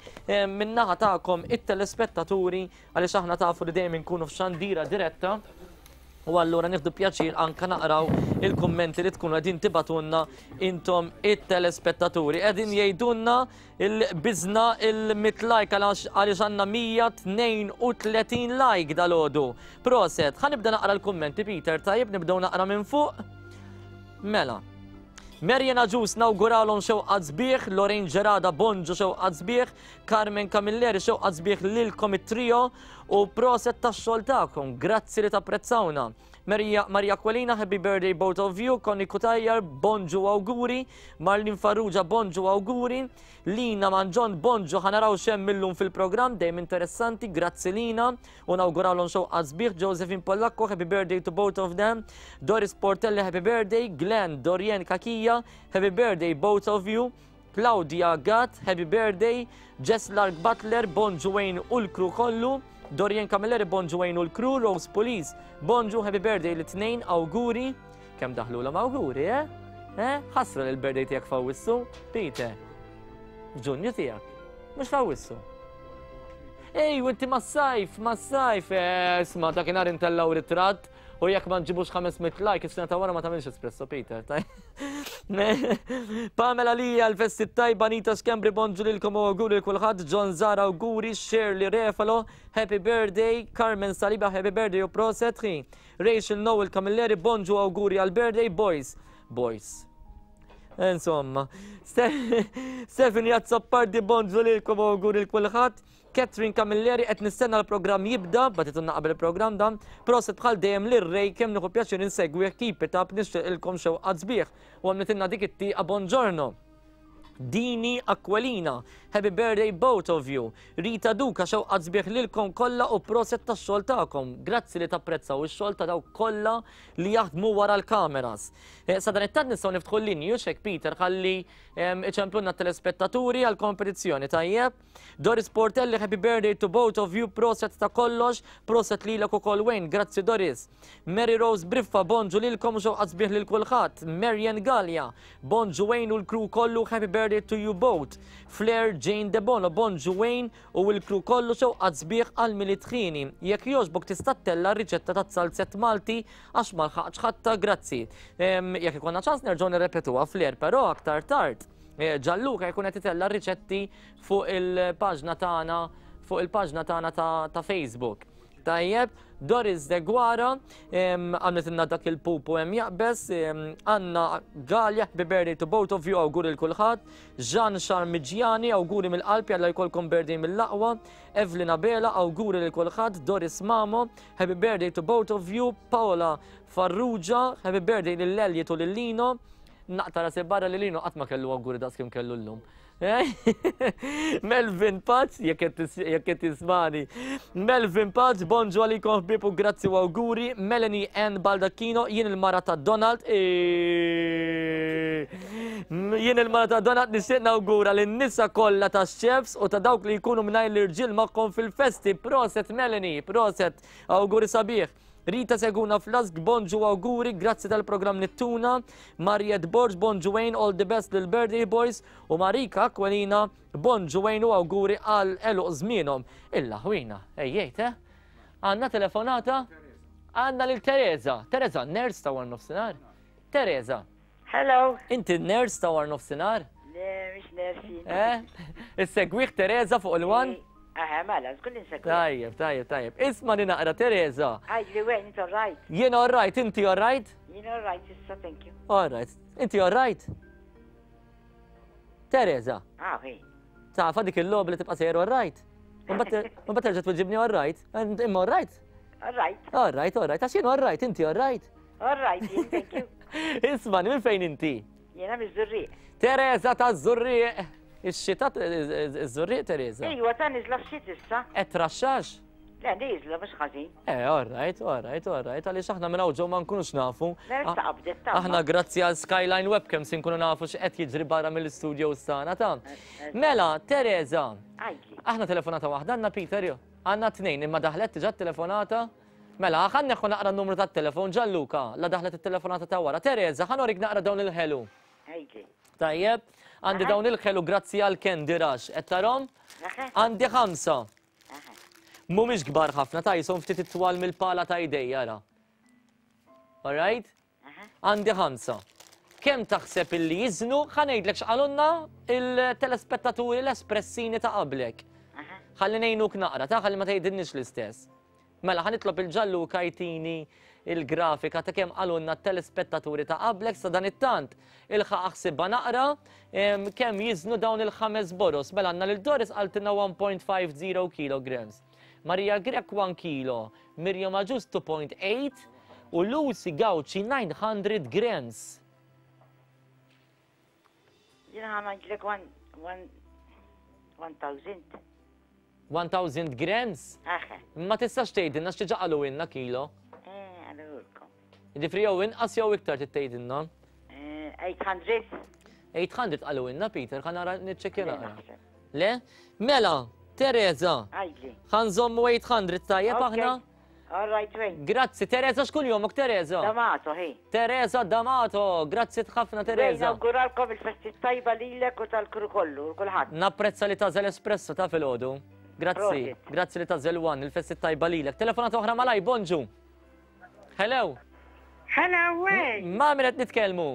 min-naħa tagħkom it-telespettaturi, għaliex aħna tafu li dejjem inkunu f'xandira diretta u allura nieħdu pjaċir anka naqraw il-kummenti li tkunu qegħdin tibatunna intom it-telespettaturi. Qegħdin jgħidulna il-biżna il-mit like għaliex għandna mija tnejn u tletin like dalgħodu. Proset, ħa nibda naqra l-kummenti Peter, tajjeb nibdew naqra minn fuq. Mela, Marian Agius nawguralhom xewqa sbieħ, Lorraine Gerada bonġu xewqa sbieħ, Carmen Camilleri xewqa sbieħ lilkom it-trio u proset tax-xogħol tagħkom, grazzi li tapprezzawna. Maria, Maria Aquilina, happy birthday both of you, Connie Cutajar, bonġu awguri, Marlin Farrugia, bonġu awguri, Lina Manġon, bonġu, ħanaraw xem millum fil-program, dejjem interessanti, grazzi Lina, u nawguralhom xewqa sbieħ, Josephine Pollacco, happy birthday to both of them, Doris Portelli, happy birthday, Glenn, Dorien Kakija, happy birthday both of you, Claudia Gatt, happy birthday, Jess Lark Butler, bonġu Wayne u l-kru kollu, Dorian Camilleri, bonġu Wayne u l-kru, Rose Police, bonġu, happy birthday l-tnejn, awguri, kemm daħlu l awguri, eh? Eh? Ħasra li l-birthday tiegħek f'Awwissu, Peter. Ġunju tiegħek, mhux f'Awwissu. Ej, u inti mas-sajf, mas-sajf, isma' dakinhar intellaw ritratt u jekk ma nġibux ħames mitt like, is-sena ta' wara ma tagħmilx espresso, Peter, taj. Pamela Lija, l-festi tajba, Anita Schembri, bonġu lilkom u awguri lil kulħadd, John Zara awguri, Shirley Refalo, happy birthday, Carmen Saliba, happy birthday u proset, Rachel Noel Camilleri, bonġu awguri għal birthday, boys, boys. Insomma, Stephanie Azzopardi, bonġu lilkom u awguri lil kulħadd. Catherine Camilleri, qed nistenna l-programm jibda, batitunna qabel il-programm dan, proset bħal dejjem lir-Ray kemm nieħu pjaċir insegwih, keep it up, nixtieq ilkom xewqat sbieħ. U għamlitilna dik it-tieqa buongiorno. Dini Aquilina, happy birthday both of you. Rita Duka, xewqat sbieħ lilkom kollha u proset tax-xogħol tagħkom. Grazzi li tapprezzaw ix-xogħol ta' dawk kollha li jaħdmu wara l-kameras. Sadanittant nistgħu niftħu l-linji xek Peter ħalli iċemplunna telespettaturi għal kompetizzjoni tajjeb. Doris Portelli, happy birthday to both of you, proset ta' kollox, proset lilek ukoll Wayne, grazzi Doris. Mary Rose Briffa, bonġu lilkom u xewqat sbieħ lil kulħadd. Marian Gallia, bonġu Wayne u l-crew kollu, happy birthday to you both. Flair Jane Debono, bonġu Wayne u l-crew kollu xewqat sbieħ għal Milied ħieni. Jekk jogħġbok tista' ttella' r-riċetta ta' zalzett Malti għax ma lħaqtx ħatta, grazzi. Jekk ikollna ċans nerġgħu nirrepetuha Flair, però aktar tard. Gianluca jkun qed itella' riċetti fuq il-paġna tagħna fuq il-paġna tagħna ta' Facebook. Tajjeb, Doris Deguara, għamlet inna dak il-pupu hemm jaqbes, Anna Gallia, happy birthday to both of you, awguri lil kulħadd, Jean Charmigiani, awguri mill-qalb, jalla jkollkom birthday mill-aqwa, Evelyn Abela, awguri lil kulħadd, Doris Mamo, happy birthday to both of you, Paola Farrugia, happy birthday lil Elliot u lil Lino, naqta rasi barra li Lino qatt ma kellu awguri daqs kemm kellu llum. Melvin Paċ, jekk qed tismani. Melvin Paċ, bonġu għalikom ħbieb u grazzi u awguri. Melanie N. Baldacchino, jien il-mara ta' Donald. Jien il-mara ta' Donald nixtieq nawgura lin-nisa kollha tax-chefs u ta' dawk li jkunu mingħajr l-irġiel magħhom fil-festi. Proset Melanie, proset, awguri sabiħ. Rita Seguna Flask, bonġu awguri, grazzi tal-programm Nittuna. Mariet Borg, bonġu Wayne, all the best lil birthday boys. U Marika Aquilina, bonġu Wayne u awguri għal għeluq żmienhom. Illa ħwina, ejjejt, eh? Għandna telefonata? Għandna lil Teresa. Teresa, nurse ta' war nofsinhar? Teresa. Hello. Inti nurse ta' war nofsinhar? Le, mhix nurse. Eh? Issegwih Teresa fuq il-one? Aha, mela, żgur li nsegwi. Tajjeb, tajjeb, tajjeb. Isma' li naqra Teresa. Għidli Wayne, inti all right? Jien all right, inti all right? Jien all right, issa, thank you. All right. Inti all right? Teresa. Ah, hi. Tafa dik il-logħba li tibqa' sejjer all right? Mbagħad terġa' tweġibni all right. Imma all right? All right. All right, all right. Għax jien all right, inti all right? All right, jien, thank you. Isma' minn fejn inti? Jiena miż-Żurrieq. Teresa taż-Żurrieq. Ix-xita iż-Żurrieq Teresa? Ejwa, ta' niżla f'xit issa. Qed traxxax? Le, niżla mhux ħażin. Eh, all right, all right, all right, għaliex aħna minn hawn ġew ma nkunux nafu. Mela issa qabdet ta' Aħna grazzi għal Skyline Webcam se nkunu nafu x'qed jiġri barra mill-studios tagħna ta'. Mela, Teresa. Għidli. Aħna telefonata waħda għandna Peter jo. Għandna tnejn imma daħlet diġà telefonata. Mela, ħa neħu naqra n-numru tat-telefon Gianluca, la daħlet it-telefonata ta' wara. Teresa, ħa norik naqra dawn il-ħelu. Għidli. Tajjeb, għandi dawn il-ħelu grazzi għal Candy Rush. Qed tarhom? Għandi ħamsa. Mhumiex kbar ħafna, ta' jisom ftit itwal mill-pala ta' idej, ara. All right? Għandi ħamsa. Kemm taħseb illi jiżnu, ħa ngħidlek x'qalulna il-telespettaturi l-espressini ta' qablek. Ħalli ngħinuk naqra, ta' ħalli ma tgħidilniex l-istess. Mela, ħa nitlob il-Gianluca jtini il-grafika ta' kemm qalulna t-telespettaturi ta' qablek sa dan it-tant. Ilħaq aħsibha naqra kemm jiżnu dawn il-ħames boros. Mela għandna lil Doris qaltilna one point five zero kilograms. Maria Grech one kilo, Miriam Agius two point eight u Lucy Gauci nine hundred grams. Jiena ħa ngħidlek one thousand. one thousand grams? Aha. Ma tistax tgħidilna x'diġà qalulna kilo. Eh, qalulkom. Jiġifieri jew inqas jew iktar trid tgħidilna. Eh, eight hundred. eight hundred qalulna Peter, ħa nara niċċekkja Le, naqra. naħseb. Le? Mela, Teresa. Għidli. Ħa nżommu eight hundred tajjeb Ok. aħna? All right, Wayne. Grazzi, Teresa, x'kull jomok, Teresa? D'Amato, hi. Teresa D'Amato, grazzi ħafna, Teresa. Wayne, nawguralkom il-festi tajba lilek u tal-kru kollu, kulħadd. Napprezza li tażel espresso ta' filgħodu. Grazzi, Prosit. grazzi li tażel one, il-festi tajba lilek. Telefonata oħra malaj, bonġu. Hello. Hello, Wayne. Ma' min qed nitkellmu?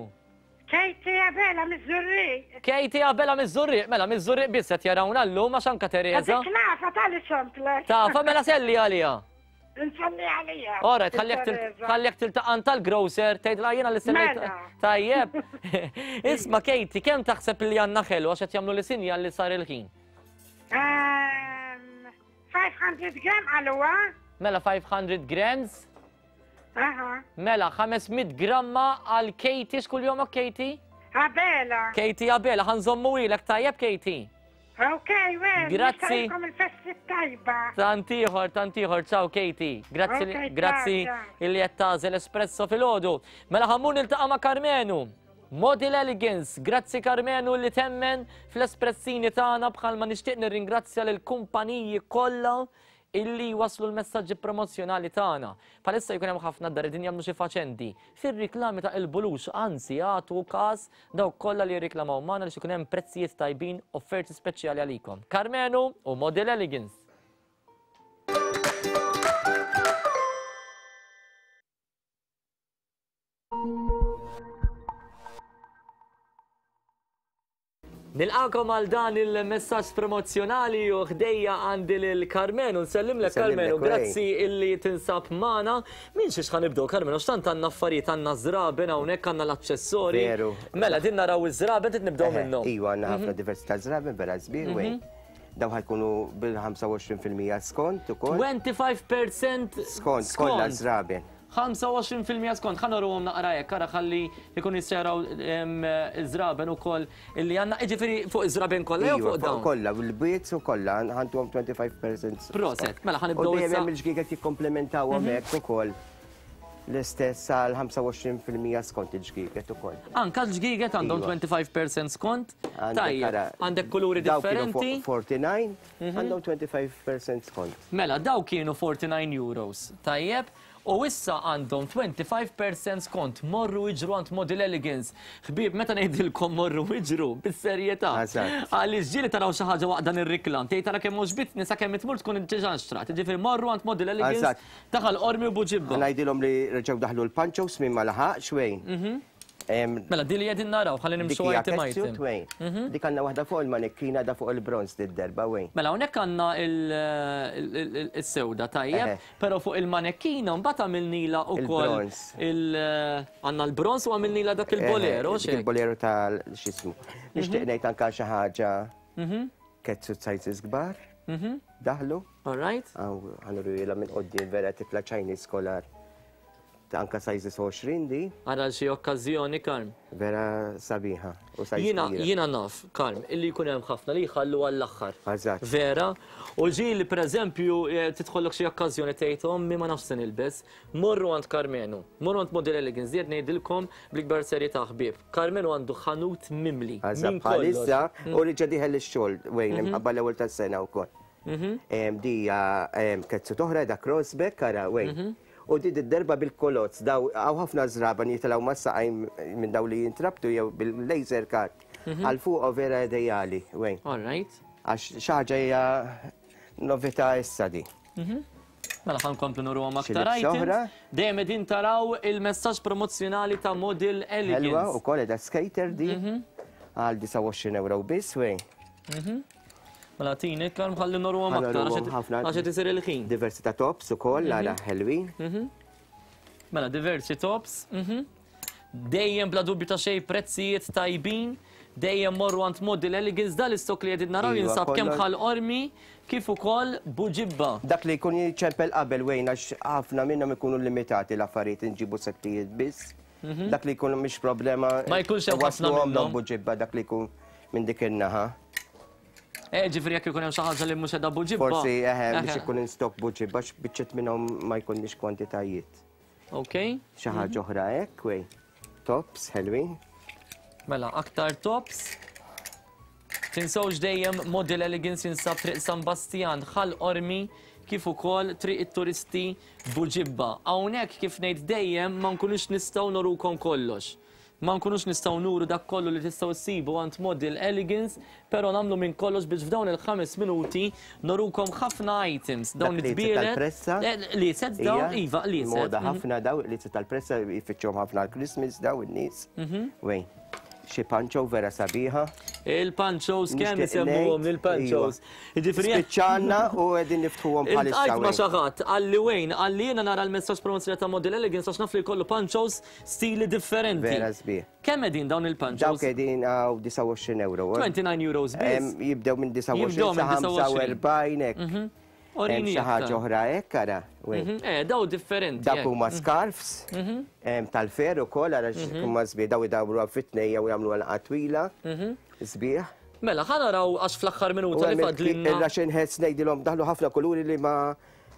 Katie Abela miż-Żurrieq. Katie Abela miż-Żurrieq, mela miż-Żurrieq biss qed jarawna llum għax anka Teresa. Dik nafa tal ċemplek. Tafa mela selli għalija. Nsemmi għalija. Ora, tħallek tiltaqan tal-grocer, tgħidilha jiena li semmejt. Mela. Tajjeb. Isma' Katie, kemm taħseb li għandna ħelu għax qed jagħmlu li sinjal li sar il-ħin? Ehm, five hundred gram għalwa. Mela five hundred grams? Aha. Mela ħames mitt gramma għal Katie, x'kull jomok Katie? Abela. Katie Abela, ħa nżommu ilek tajjeb Katie. Ok, well, Grazzi. nixtieqilkom il-festi tajba. Tant ieħor, tant ieħor, ciao Katie. Grazzi, Ok, grazzi ciao, illi qed tagħżel Espresso filgħodu. Mela ħa mmur niltaqa' ma' Karmenu. Model Elegance, grazzi Karmenu li temmen fl-espressini tagħna bħalma nixtieq nirringrazzja lill kumpaniji kollha illi waslu l-messaġġi promozzjonali tagħna. Palissa jkun hemm ħafna dar din jagħmlu xi faċendi. Fir-riklami ta' il-bulux, anzi jagħtu każ dawk kollha li jirriklamaw magħna li ikun hemm prezzijiet tajbin, offerti speċjali għalikom. Karmenu u Model Elegance. Nilqakom għal dan il-messaġġ promozzjonali u ħdejja għandi lil Karmenu. Nsellimlek Nsellimlek, Karmenu, Ray. grazzi illi tinsab magħna. Min xiex ħa nibdew Karmenu, x'tant għandna affarijiet, għandna żraben hawnhekk, għandna l-aċċessorji. Veru. Mela din naraw iż-żraben, trid nibdew Eħe, minnhom. Iva, għandna ħafna diversità żraben, vera sbieħ, Mhm. Wayne. Daw ħa jkunu bil-ħamsa u għoxrin fil-mija skont ukoll. twenty-five percent Skont, kollha żraben. ħamsa u għoxrin fil-mija skont, ħa nuruhom naqra hekk, ara ħalli jkun jistgħu iż-żraben ukoll illi għandna, jiġifieri fuq iż-żraben kollha jew Iva, fuq dawn? Kollha, l-bwiet u kollha, ħa ntuhom twenty-five percent skont. Proset, mela ħa nibdew U dejjem issa. hemm il-ġgieget jikkomplementawhom Mhm. hekk ukoll. L-istess għal ħamsa u għoxrin fil-mija skont il-ġgieget ukoll. Anka l-ġgieget għandhom Iva. twenty-five percent skont. Għandek Tajjeb, ara, għandek kuluri daw kienu differenti. forty-nine, Mhm. għandhom twenty-five percent skont. Mela, daw kienu forty-nine euros. Tajjeb, u issa għandhom twenty-five percent skont. Morru iġru għand Model Elegance. Ħbieb, meta ngħidilkom morru iġru, bis-serjetà. Eżatt. Għaliex ġieli taraw xi ħaġa waqt dan ir-riklam. Tgħid tara kemm għoġbitni sakemm tmur tkun diġà nxtrat. Jiġifieri morru għand Model Elegance Eżatt. ta' Ħal Qormi u Buġibba. Ngħidilhom li reġgħu daħlu l-panchos minn ma laħaqx Wayne. Mhm. Mela, di li qegħdin naraw, ħalli nimxu Dik hija item catsuit, item. Wayne. Dik għandna waħda fuq il-manekkina da fuq il-bronz did-darba Wayne. Mela, hawnhekk għandna il-sewda, tajjeb, Eħe. però fuq il-manekkina mbagħad għamilnila wkoll Il-bronz. il- għandna l-bronz u għamilnila dak il-bolero, Eħe, dik xek. Il-bolero tal x'ismu. Nixtieq ngħid anka xi ħaġa Mhm. catsuit sizes kbar. Mhm. Daħlu. All right. Ħa nurihilha minn quddiem vera tifla Chinese collar. Ta' anka sizes għoxrin di. Għara xi okkażjoni, Karm. Vera sabiħa. U size Jiena kbira. jiena naf, Karm, illi jkun hemm ħafna li jħallu għall-aħħar. Eżatt. Vera, u ġieli pereżempju eh, tidħollok xi okkażjoni tgħid ommi ma nafx se nilbes, morru għand Karmenu, morru għand Model Elegance, diet ngħidilkom bl-ikbar serjetà ħbieb. Karmenu għandu ħanut mimli. Eżatt, minn kollox. bħalissa Mm. u reġa' dieħel ix-xogħol Wayne Mhm. imħabba l-ewwel tas-sena wkoll. Mhm. Em, Di hija em, catsuit oħra da crossback ara Wayne. Mhm. U di d-derba bil-kolozz, daw hawn ħafna żraban jitilgħu mas-saqajn minn daw li jintrabtu jew bil-laser cut. Mhm. Għal fuq vera ideali, Wayne. All right. Għax xi ħaġa hija novità issa di. Mhm. Mela ħa nkomplu nuruhom Xi aktar libsa items. oħra? Dejjem qegħdin taraw il-messaġġ promozzjonali ta' Model Ħelwa Elegance. u koll da skater di għal disgħa u għoxrin euro biss, Wayne. Mhm. Mela tini, Karm ħalli nuruhom aktar Ħa nuruhom għax għax qed isir il-ħin. Diversità tops ukoll ara ħelwin. Mhm. Mela diversi tops. mhm. Dejjem bla dubju ta' xejn prezzijiet tajbin, dejjem morru għand Model Elegance dal istok li qegħdin naraw Iva, jinsab kemm kollox- Ħal Qormi kif ukoll Buġibba. Dak li jkun jiċempel qabel Wayne għax ħafna minnhom ikunu limitati l-affarijiet inġibu settijiet biss. Mhm. Dak li jkun mhix problema. Ma jkunx hemm ħafna wasluhom minnhom. Buġibba dak li jkun minn dik in-naħa. Eh, ġifieri jekk ikun hemm xi ħaġa li mhux qiegħda Buġibba. Forsi eħe biex Eħe. ikun in stock Buġibba biċċet minnhom ma jkunniex kwantitajiet. Ok. Xi ħaġa oħra hekk Wayne. Tops ħelwin. Mela, aktar tops. Tinsewx dejjem Model Elegance jinsab Triq San Bastian, Ħal Qormi, kif ukoll Triq it-Turisti Buġibba. Hawnhekk kif ngħid dejjem ma nkunux nistgħu nurukom kollox. Ma nkunux nistgħu nuru dak kollu li tistgħu ssibu għand Model Elegance, però nagħmlu minn kollox biex f'dawn il-ħames minuti nurukom ħafna items. Dawn Dak li it-tbielet. tal-pressa. Eh, Li set dawn, Ija, iva, li set. Moda ħafna daw li tal-pressa jfittxuhom ħafna għal-Christmas daw in-nies. Mhm. Wayne. Xi pancho vera sabiħa. Il-panchos kemm Nixtieq isemmuhom ngħid, il-panchos. iva. Jiġifieri Spiċċanna u qegħdin niftħuhom bħalissa. Iltqajt ma Wayne. xi ħadd, għalli Wayne, għalli jiena nara l-messaġġ promozzjoni ta' Model Elegance għax naf li jkollu panchos stili differenti. Vera sbieħ. Kemm qegħdin dawn il-panchos? Dawk qegħdin għaw disgħa u għoxrin euro. twenty-nine euros biss. Em, Jibdew minn Jibdew disgħa u għoxrin minn sa disgħa u għoxrin. ħamsa u erbgħin hekk. Mhm. Hemm xi ħaġa oħra hekk ara. Eh, daw differenti. Dak huma scarfs tal-fer ukoll ara huma sbieħ daw idawru fit-tnejja u jagħmlu għalqa twila. Sbieħ. Mela, ħa naraw għax fl-aħħar minuta li fadlilna. Ir-Russian hats ngħidilhom daħlu ħafna kuluri li ma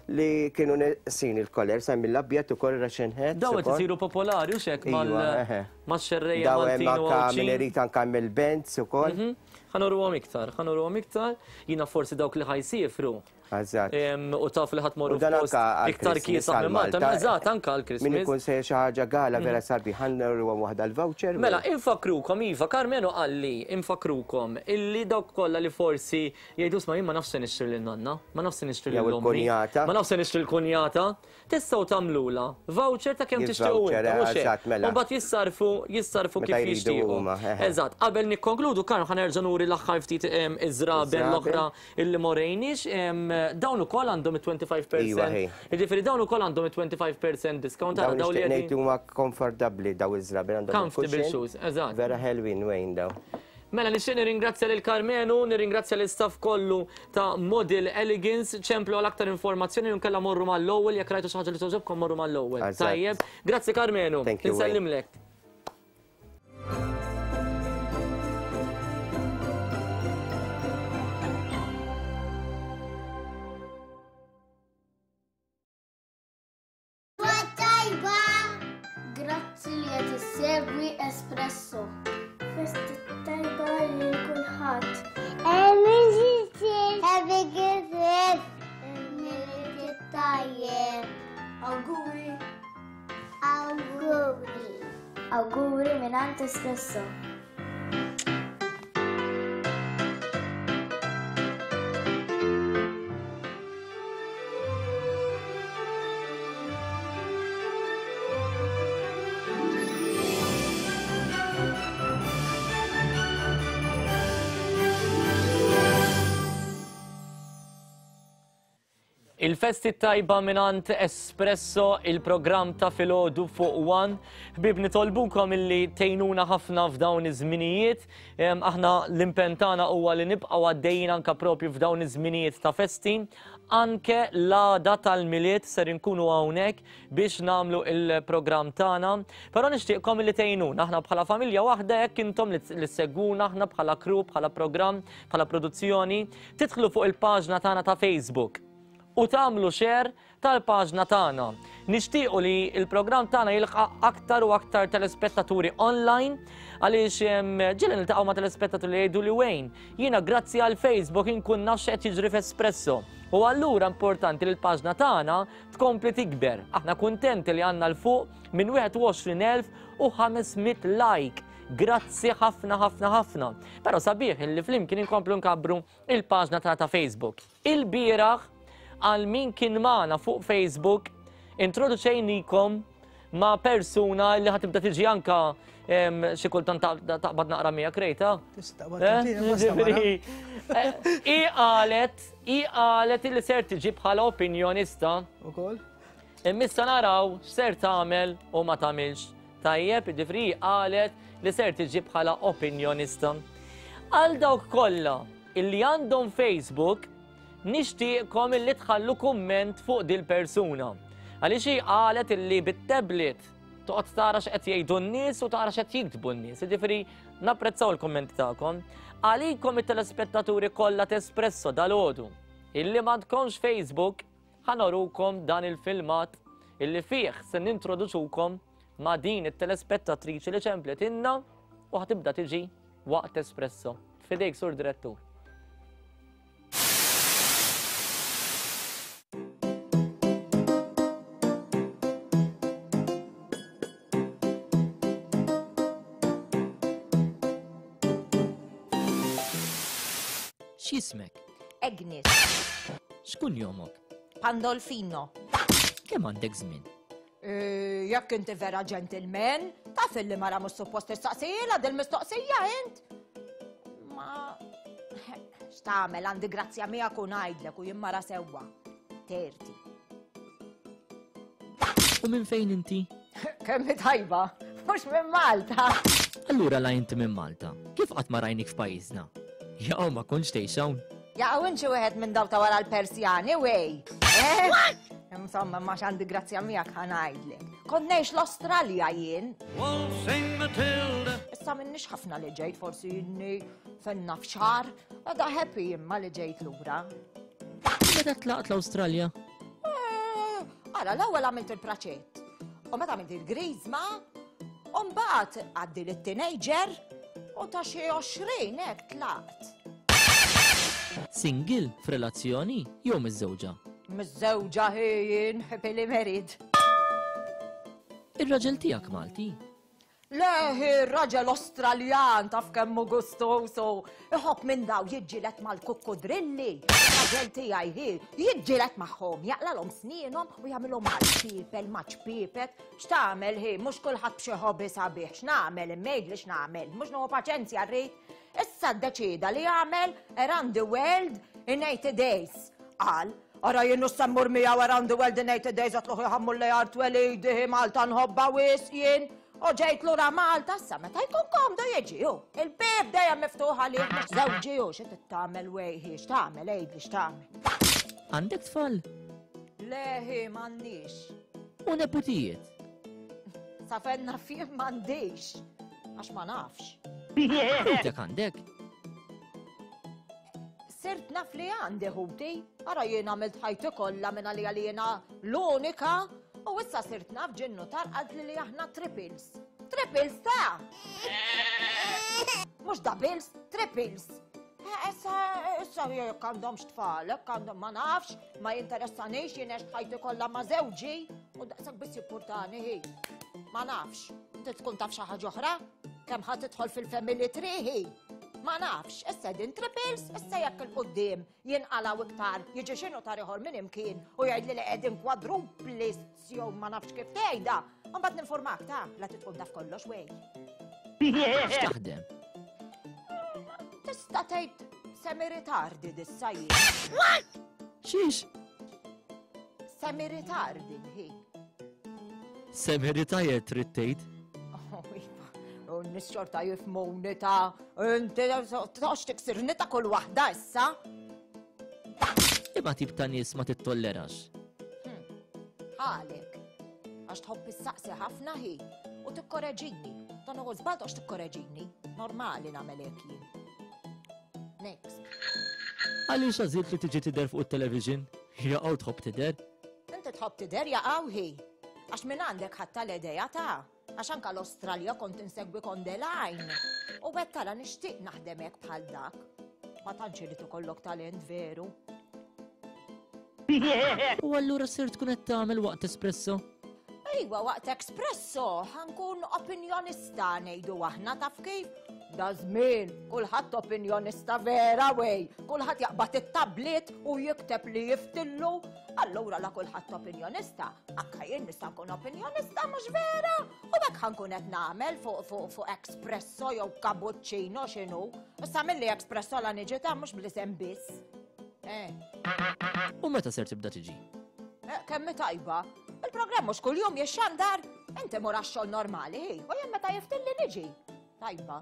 li kienu neqsin il-koller, sa mill-abjad ukoll Russian hats. Daw qed isiru popolari u xek mal-xerrejja Maltin u Għawdxin. Daw min irid anke mill-bands ukoll. Ħa nuruhom iktar, ħa nuruhom iktar. Jiena forsi dawk li ħa jsifru. Eżatt. U taf li ħadd morru f'post iktar kiesaħ minn Malta. Eżatt, anke għall-Christmas. Min ikun sejjer xi ħaġa gala vera sabiħ, ħa nuruhom waħda l-voucher. Mela, infakrukom, iva, Karmenu qalli, infakrukom, illi dawk kollha li forsi jgħidu sma' jien ma nafx se nixtri lil nanna, ma nafx se nixtri lil ommi, ma nafx se nixtri l-kunjata, tistgħu tagħmlula voucher ta' kemm tixtiequ intom, mhux hekk. U mbagħad jissarfu jissarfu kif jixtiequ. Eżatt, qabel nikkonkludu, Karm, ħa nerġa' nuri l-aħħar ftit iż-żraben l-oħra illi morejniex. Dawn ukoll għandhom it-twenty-five percent. Jiġifieri dawn ukoll għandhom it-twenty-five percent discount. Dawn nixtieq ngħid huma komfortabbli daw iż-żraben għandhom. Comfortable shoes, eżatt. Vera ħelwin wejn daw. Mela nixtieq nirringrazzja lil Karmenu, nirringrazzja l-istaff kollu ta' Model Elegance, ċemplu għal aktar informazzjoni u nkella morru mal-ewwel jekk rajtu xi ħaġa li togħġobkom morru mal-ewwel. Tajjeb, grazzi Karmenu. Insellimlek. Grazzi li qed issegwi Espresso. Festi tajba lil kulħadd. Happy Christmas. Milied tajjeb. Awguri. Awguri. Awguri mingħand Espresso. Il-festi tajba minant Espresso, il-programm ta' filgħodu fuq One. Ħbieb nitolbukom illi tgħinuna ħafna f'dawn iż-żminijiet. Aħna l-impenn tagħna huwa li nibqgħu għaddejjin anke propju f'dawn iż-żminijiet ta' festi. Anke l-għada tal-Milied ser inkunu hawnhekk biex nagħmlu il-programm tagħna. Però nixtieqkom illi tgħinuna. Aħna bħala familja waħda jekk intom li ssegwuna aħna bħala crew, bħala programm, bħala produzzjoni, tidħlu fuq il-paġna tagħna ta' Facebook u tagħmlu share tal-paġna tagħna. Nixtiequ li l-programm tagħna jilqa' aktar u aktar telespettaturi online għaliex ġieli niltaqgħu ma' telespettaturi li jgħidu li wejn, jiena grazzi għal Facebook inkun naf x'qed jiġri f'Espresso. U allura importanti li l-paġna tagħna tkompli tikber. Aħna kuntenti li għandna l fuq minn wieħed u għoxrin elf u ħames mitt like. Grazzi ħafna ħafna ħafna. Però sabiħ li flimkien inkomplu nkabbru il-paġna tagħna ta' Facebook. Il-bieraħ għal min kien magħna fuq Facebook introduċejnikom ma' persuna li ħatibda tiġi anka xi kultant taqbad naqra miegħek rejta. I qalet, i qalet li ser tiġi bħala opinjonista. Ukoll. Imma naraw x'ser tagħmel u ma tagħmilx. Tajjeb, jiġifieri qalet li ser tiġi bħala opinjonista. Għal dawk kollha illi għandhom Facebook nixtieqkom illi tħallu kumment fuq dil-persuna. Għaliex hi qalet illi bit-tablet toqgħod tara x'qed jgħidu n-nies u tara x'qed jiktbu n-nies. Jiġifieri napprezzaw il-kummenti tagħkom. Għalikom it-telespettaturi kollha t'Espresso dalgħodu illi m'għandkomx Facebook ħa norukom dan il-filmat illi fih se nintroduċukom ma' din it-telespettatriċi li ċemplet inna u ħatibda tiġi waqt Espresso. Fidejk, Sur Direttur. X'ismek? Agnes. X'kun jomok? Pandolfino. Kemm għandek żmien? Jekk inti vera gentleman, taf illi mara mhux suppost tistaqsijilha dil-mistoqsija int. Ma x'tagħmel għandi grazzja miegħek u ngħidlek u jien mara sewwa. Terti. U minn fejn inti? Kemm tajba, mhux minn Malta. Allura la inti minn Malta, kif qatt ma rajnik f'pajjiżna? Jaqaw ma kontx tgħix hawn. Jaqaw inti wieħed minn daw ta' wara l-Persjani, wej. Eh? Insomma, ma għandi grazzja miegħek ħa ngħidlek. Kont ngħix l-Awstralja jien. Issa minnix ħafna li ġejt, forsi inni fenna f'xahar, għada happy imma li ġejt lura. Meta tlaqt l-Awstralja? Ara, l-ewwel għamilt il-praċett. U meta għamilt il-griżma, u mbagħad għaddi lit-teenager u ta' xi għoxrin hekk tlaqt. Single f'relazzjoni jew miżżewġa? Miżżewġa jien happily married. Ir-raġel tiegħek Malti? Le, ir-raġel Australjan taf kemm hu gustoso. Iħobb minn daw jiġġieled mal-kukkudrilli. Ir-raġel tiegħi hi jiġġieled magħhom, jaqlalhom snienhom u jagħmilhom mal-pipel, maċ-pipet. X'tagħmel hi, mhux kulħadd b'xi hobby sabiħ, x'nagħmel, immejdli x'nagħmel, mhux nieħu paċenzja rrid. Issa ddeċieda li jagħmel around the world in eighty days. Qal, ara jien nistemmur miegħu around the world in eighty days għatluħ jħammur li art twelidi Malta nħobba wisq jien. U ġejt lura Malta issa meta jkun komdu jiġi hu. Il-bib dejjem miftuħ għalih mhux żewġi hu xi tagħmel wejħi, x'tagħmel għidli x'tagħmel. Għandek tfal? Leħi m'għandix. U neputijiet? Sa fejn naf jien m'għandix, għax ma nafx. Ħutek għandek? Sirt naf li għandi ħuti, ara jien għamilt ħajti kollha minn għalija li jiena l-unika, u issa sirt naf ġinnu tarqad li li aħna triples. Triples ta'! Mhux doubles, triples. Issa, issa jekk għandhomx tfal, jekk għandhom ma nafx, ma jinteressanix, jien għext ħajti kollha ma' żewġi, u daqshekk biss jippurtani hi. Ma nafx, inti tkun taf xi ħaġa oħra? Kemm ħa tidħol fil-family tree hi? Ma nafx, issa din triples, issa jekk il-qoddim jinqalaw iktar, jiġi xinu tar ieħor minn imkien u jgħidli li qegħdin quadruplis jew ma nafx kif tgħidha. Mbagħad ninformak ta' la tidħol taf kollox wej. X'taħdem? Tista' tgħid semi-retarded issa jien. What? Xiex? Semi-retarded hi. Semi-retired trid tgħid? U n-nies xorta jifhmuni ta' inti toqgħodx tiksirni ta' kull waħda issa. Imma tip ta' nies ma tittollerax. Għalek, għax tħobb issaqsi ħafna hi u tikkoreġini. Dan huwa żball toqgħodx tikkoreġini. Normali nagħmel hekk jien. Next. Għaliex għażilt li tiġi tidher fuq it-television? Jaqgħu tħobb tidher? Inti tħobb tidher jaqgħu hi. Għax minn għandek ħadd tal-idea ta' għax anka l-Australja kont insegwi kondelajn. U għed tara nixtieq naħdem hekk bħal dak. Ma tantx irid ikollok talent veru. U allura sir tkun qed tagħmel waqt espresso? Ejwa, waqt espresso ħankun opinjonista ngħidu aħna taf kif? Da żmien, kulħadd opinjonista vera wej, kulħadd jaqbad it-tablet u jikteb li jiftillu. Allura la kulħadd opinjonista, anka jien nista' nkun opinjonista mhux vera. U hekk ħankun qed nagħmel fuq fuq fuq espresso jew cappuccino x'inhu. Issa milli espresso la niġi ta' mhux bl-isem biss. Eh. U meta ser tibda tiġi? Eh, kemm tajba. Il-programm mhux kuljum jixxandar, inti mur għax-xogħol normali, hi, u jien meta jiftilli niġi. Tajba.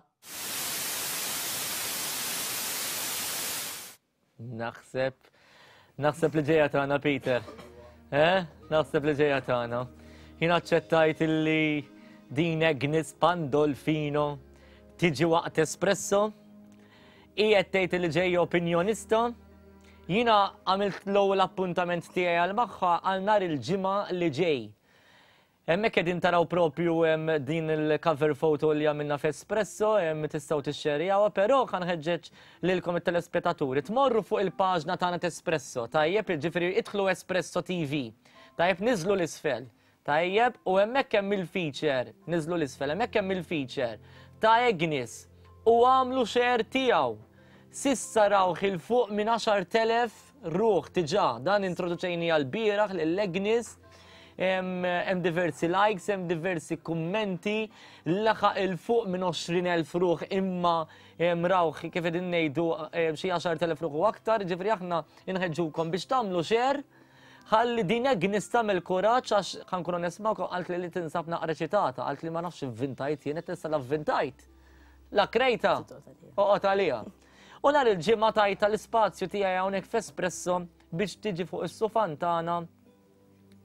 Naħseb, naħseb li ġejja tagħna, Peter. Eh? Naħseb li ġejja tagħna. Jien aċċettajt illi din Agnes Pandolfino tiġi waqt espresso. Qiegħed tgħid li ġejja opinjonista. Jiena għamilt l-ewwel appuntament tiegħi għal magħha għal nhar il-ġimgħa li ġej. Hemmhekk qegħdin taraw propju hemm din il-cover photo li għamilna f'Espresso, hemm tistgħu tixxerjawha, però ħanħeġġeġ lilkom it-telespettaturi tmorru fuq il-paġna tagħna t'Espresso, tajjeb, jiġifieri idħlu Espresso T V. Tajjeb, niżlu l-isfel. Tajjeb, u hemmhekk hemm il-feature, niżlu l-isfel, hemmhekk hemm il-feature ta' Agnes u għamlu share tiegħu. Sissa rawh il fuq minn għaxar telef ruħ diġà. Dan introduċejni għal-bieraħ lil Agnes. Hemm diversi likes, hemm diversi kummenti, laħaq il fuq minn għoxrin elf ruħ imma rawh kif qegħdin ngħidu xi għaxar telef ruħ u aktar, ġifieri aħna inħeġġukom biex tagħmlu share ħalli din Agnes tagħmel kuraġġ għax ħankun onest magħkom qalt li li tinsab naqra ċitata, qalt li ma nafx ivvintajt jien qed nista' l-avvintajt. La krejta, oqgħod għaliha. U nhar il-ġimgħa tajta l-ispazju tiegħi hawnhekk f'Espresso biex tiġi fuq is-sufan tagħna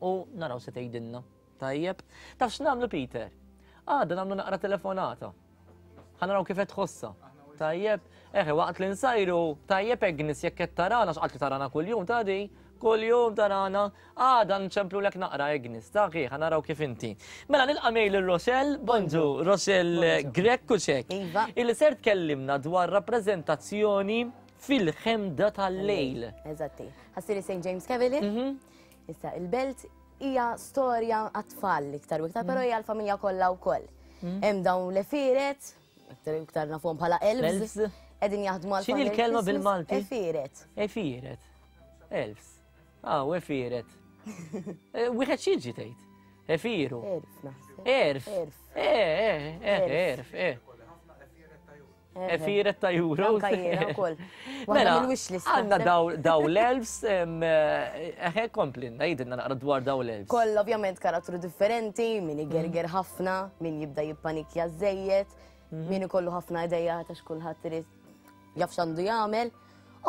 u naraw se tgħidilna. Tajjeb. Taf x'nagħmlu Peter? Għada nagħmlu naqra telefonata. Ħa naraw kif qed tħossha. Tajjeb, eħe waqt li nsajru, tajjeb Agnes jekk qed tarana, x'qalt li tarana kuljum ta' di, kuljum tarana, għada nċemplulek naqra Agnes, ta' ħa naraw kif inti. Mela nilqa' mejl lil Rochelle, bonġu, Rochelle Grech u xek. Iva. Illi ser tkellimna dwar rappreżentazzjoni fil-ħemda tal-lejl. Eżatti. Ħa ssir Saint James Cavalier. Issa, il-Belt hija storja għat-tfal iktar u iktar, però hija l-familja kollha wkoll. Hemm dawn l-għefieret, iktar u iktar nafuhom bħala elves, qegħdin jaħdmu għal X'inhi l-kelma bil-Malti? Għefieret. Għefieret. Elves. Ah, u għefieret. Wieħed x'jiġi tgħid? Għefiru. Erf naħseb. Erf. Erf. Eh, eh, eh, erf, eh. Għefieret ta' euro. Anka jiena wkoll. Waħda Mela, mill-wish list għandna naħseb. daw l-elves, eħe komplinna, jidinna naqra dwar daw l-elves. Koll ovvjament karattru differenti, min igerger ħafna, min jibda jippanikja żejjed, min ikollu ħafna ideja ta' x'kulħadd irid jaf x'għandu jagħmel.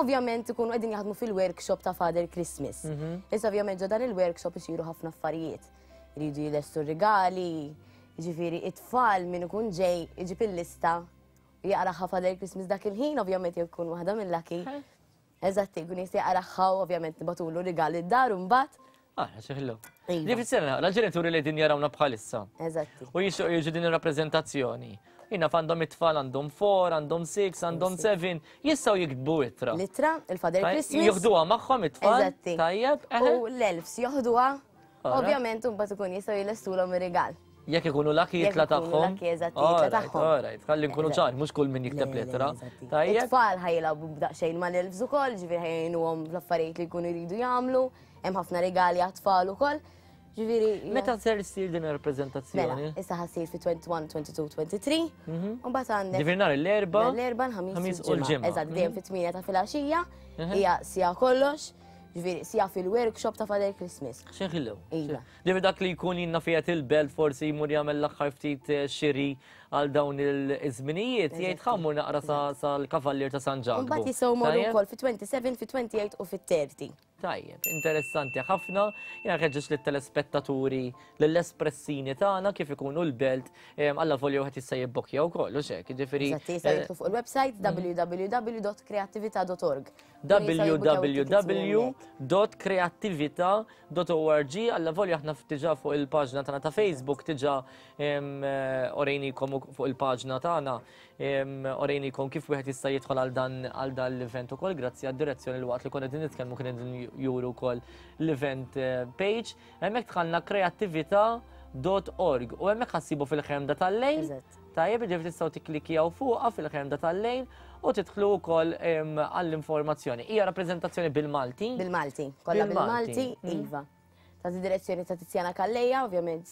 Ovvjament ikunu qegħdin jaħdmu fil-workshop ta' Father Christmas. Issa ovvjament ġo dan il-workshop isiru ħafna affarijiet. Iridu jilestu rigali, jiġifieri it-tfal min ikun ġej iġib il-lista u jaqraha Father Christmas dak il-ħin, ovvjament jkun waħda mill-lucky. Eżatt, jkun jista' jaqraha u ovvjament nibagħtulu rigali d-dar u mbagħad. Ah, xeħlu. Iva. Li fis-sena, l-ġenituri li din jarawna bħalissa. Eżatti. U jixtiequ jiġu din ir-rappreżentazzjoni. Jina għandhom it-tfal għandhom four, għandhom six, għandhom seven, jistgħu jiktbu ittra. L-ittra, il-Father Christmas. Joħduha magħhom it-tfal. Eżatti. Tajjeb, eħe. U l-elves joħduha, Ara. ovvjament mbagħad ikun jistgħu jilestulhom ir-rigal. Jekk ikunu lucky Jekk jitla ikunu tagħhom. lucky, eżatti, jitla Alright, tagħhom. alright, ħalli nkunu ċar, mhux kull min jikteb lettra. Tajjeb. It-tfal ħa jilagħbu b'daqsxejn mal-elves ukoll, ġifieri ħa jgħinuhom fl-affarijiet li jkunu jridu jagħmlu, hemm ħafna regali għat-tfal ukoll. Ġifieri. Meta ser ssir din ir-rappreżentazzjoni? Mela, issa ħa ssir fi wieħed u għoxrin, tnejn u għoxrin, tlieta u għoxrin. U mbagħad għandek Ġifieri nhar l-Erbgħa, L-Erbgħa, l-Ħamis Ħamis u u l-Ġimgħa. l-Ġimgħa. Eżatt, dejjem fit-tmienja ta' filgħaxija, Mhm. hija siegħa kollox, ġifieri siegħa fil-workshop ta' Father Christmas. Xeħillu. Iva. Ġifieri dak li jkun jinna fiat il-Belt forsi jmur jagħmel l-aħħar ftit eh, xiri għal dawn il-żminijiet, jgħid ħa mmur naqra sal-Kavallier ta' San Ġakbu. Mbagħad jistgħu jmorru Tajjeb? wkoll fi sbatax, fi tmienja u għoxrin u fi tletin. Tajjeb, interessanti ħafna. Jena nħeġġeġ lit-telespettaturi, lill-espressini tagħna kif ikunu l-Belt, alla volja wieħed jista' jibbokja wkoll, u xek, jiġifieri. Eżatt, jistgħu jidħlu fuq il-website w w w dot kreattivita dot org w w w dot kreattivita dot org. Alla volja aħna diġà fuq il-paġna tagħna ta' Facebook diġà orejnikom fuq il-paġna tagħna orejnikom kif wieħed jista' jidħol għal dan għal dan l-event ukoll grazzi għad-direzzjoni li waqt li konna qegħdin nitkellmu kien qegħdin juru wkoll l-event eh, page. Hemmhekk dħalna kreattivita dot org u hemmhekk ħa ssibu fil-ħemda tal-lejl. Tajjeb, ġifieri tistgħu tikklikjaw fuqha fil-ħemda tal-lejl u tidħlu wkoll għall-informazzjoni. Hija rappreżentazzjoni bil-Malti? Bil-Malti, kollha bil-Malti, Mhm. iva. Ta' direzzjoni ta' Tiziana Calleja, ovvjament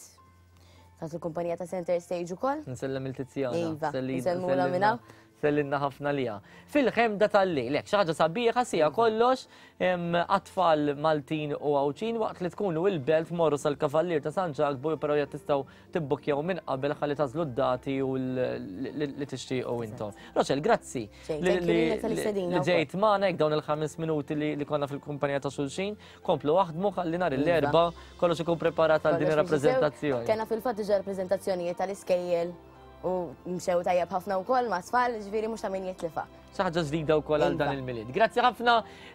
ta' il-kumpanija ta' Center Stage ukoll. Nsellem il-Tiziana. Iva, Selli- nsellmula minn hawn. Sellimna ħafna lija. Fil-ħemda tal-lejl, hekk xi ħaġa sabiħa siegħa kollox għat-tfal Maltin u Għawdxin waqt li tkunu il-Belt morru sal-Kavallier ta' San Ġakbu, però jekk tistgħu tibbukjaw minn qabel ħalli tagħżlu d-dati u li tixtiequ intom. Rochelle, grazzi Xejn, li thank you lilek tal-istedina li wkoll. ġejt magħna hekk dawn il-ħames minuti li konna fil-kumpanija ta' xulxin. Komplu aħdmu ħalli nhar Iva. l-Erbgħa kollox ikun preparat għal din Kollox biex jisew. ir-rappreżentazzjoni. Kellna fil-fatt diġà rappreżentazzjonijiet tal-iskejjel u mxew tajjeb ħafna wkoll ma' tfal, ġifieri mhux ta' min jitlifa. Xi ħaġa ġdida wkoll għal dan Iva. il-Milied. Grazzi ħafna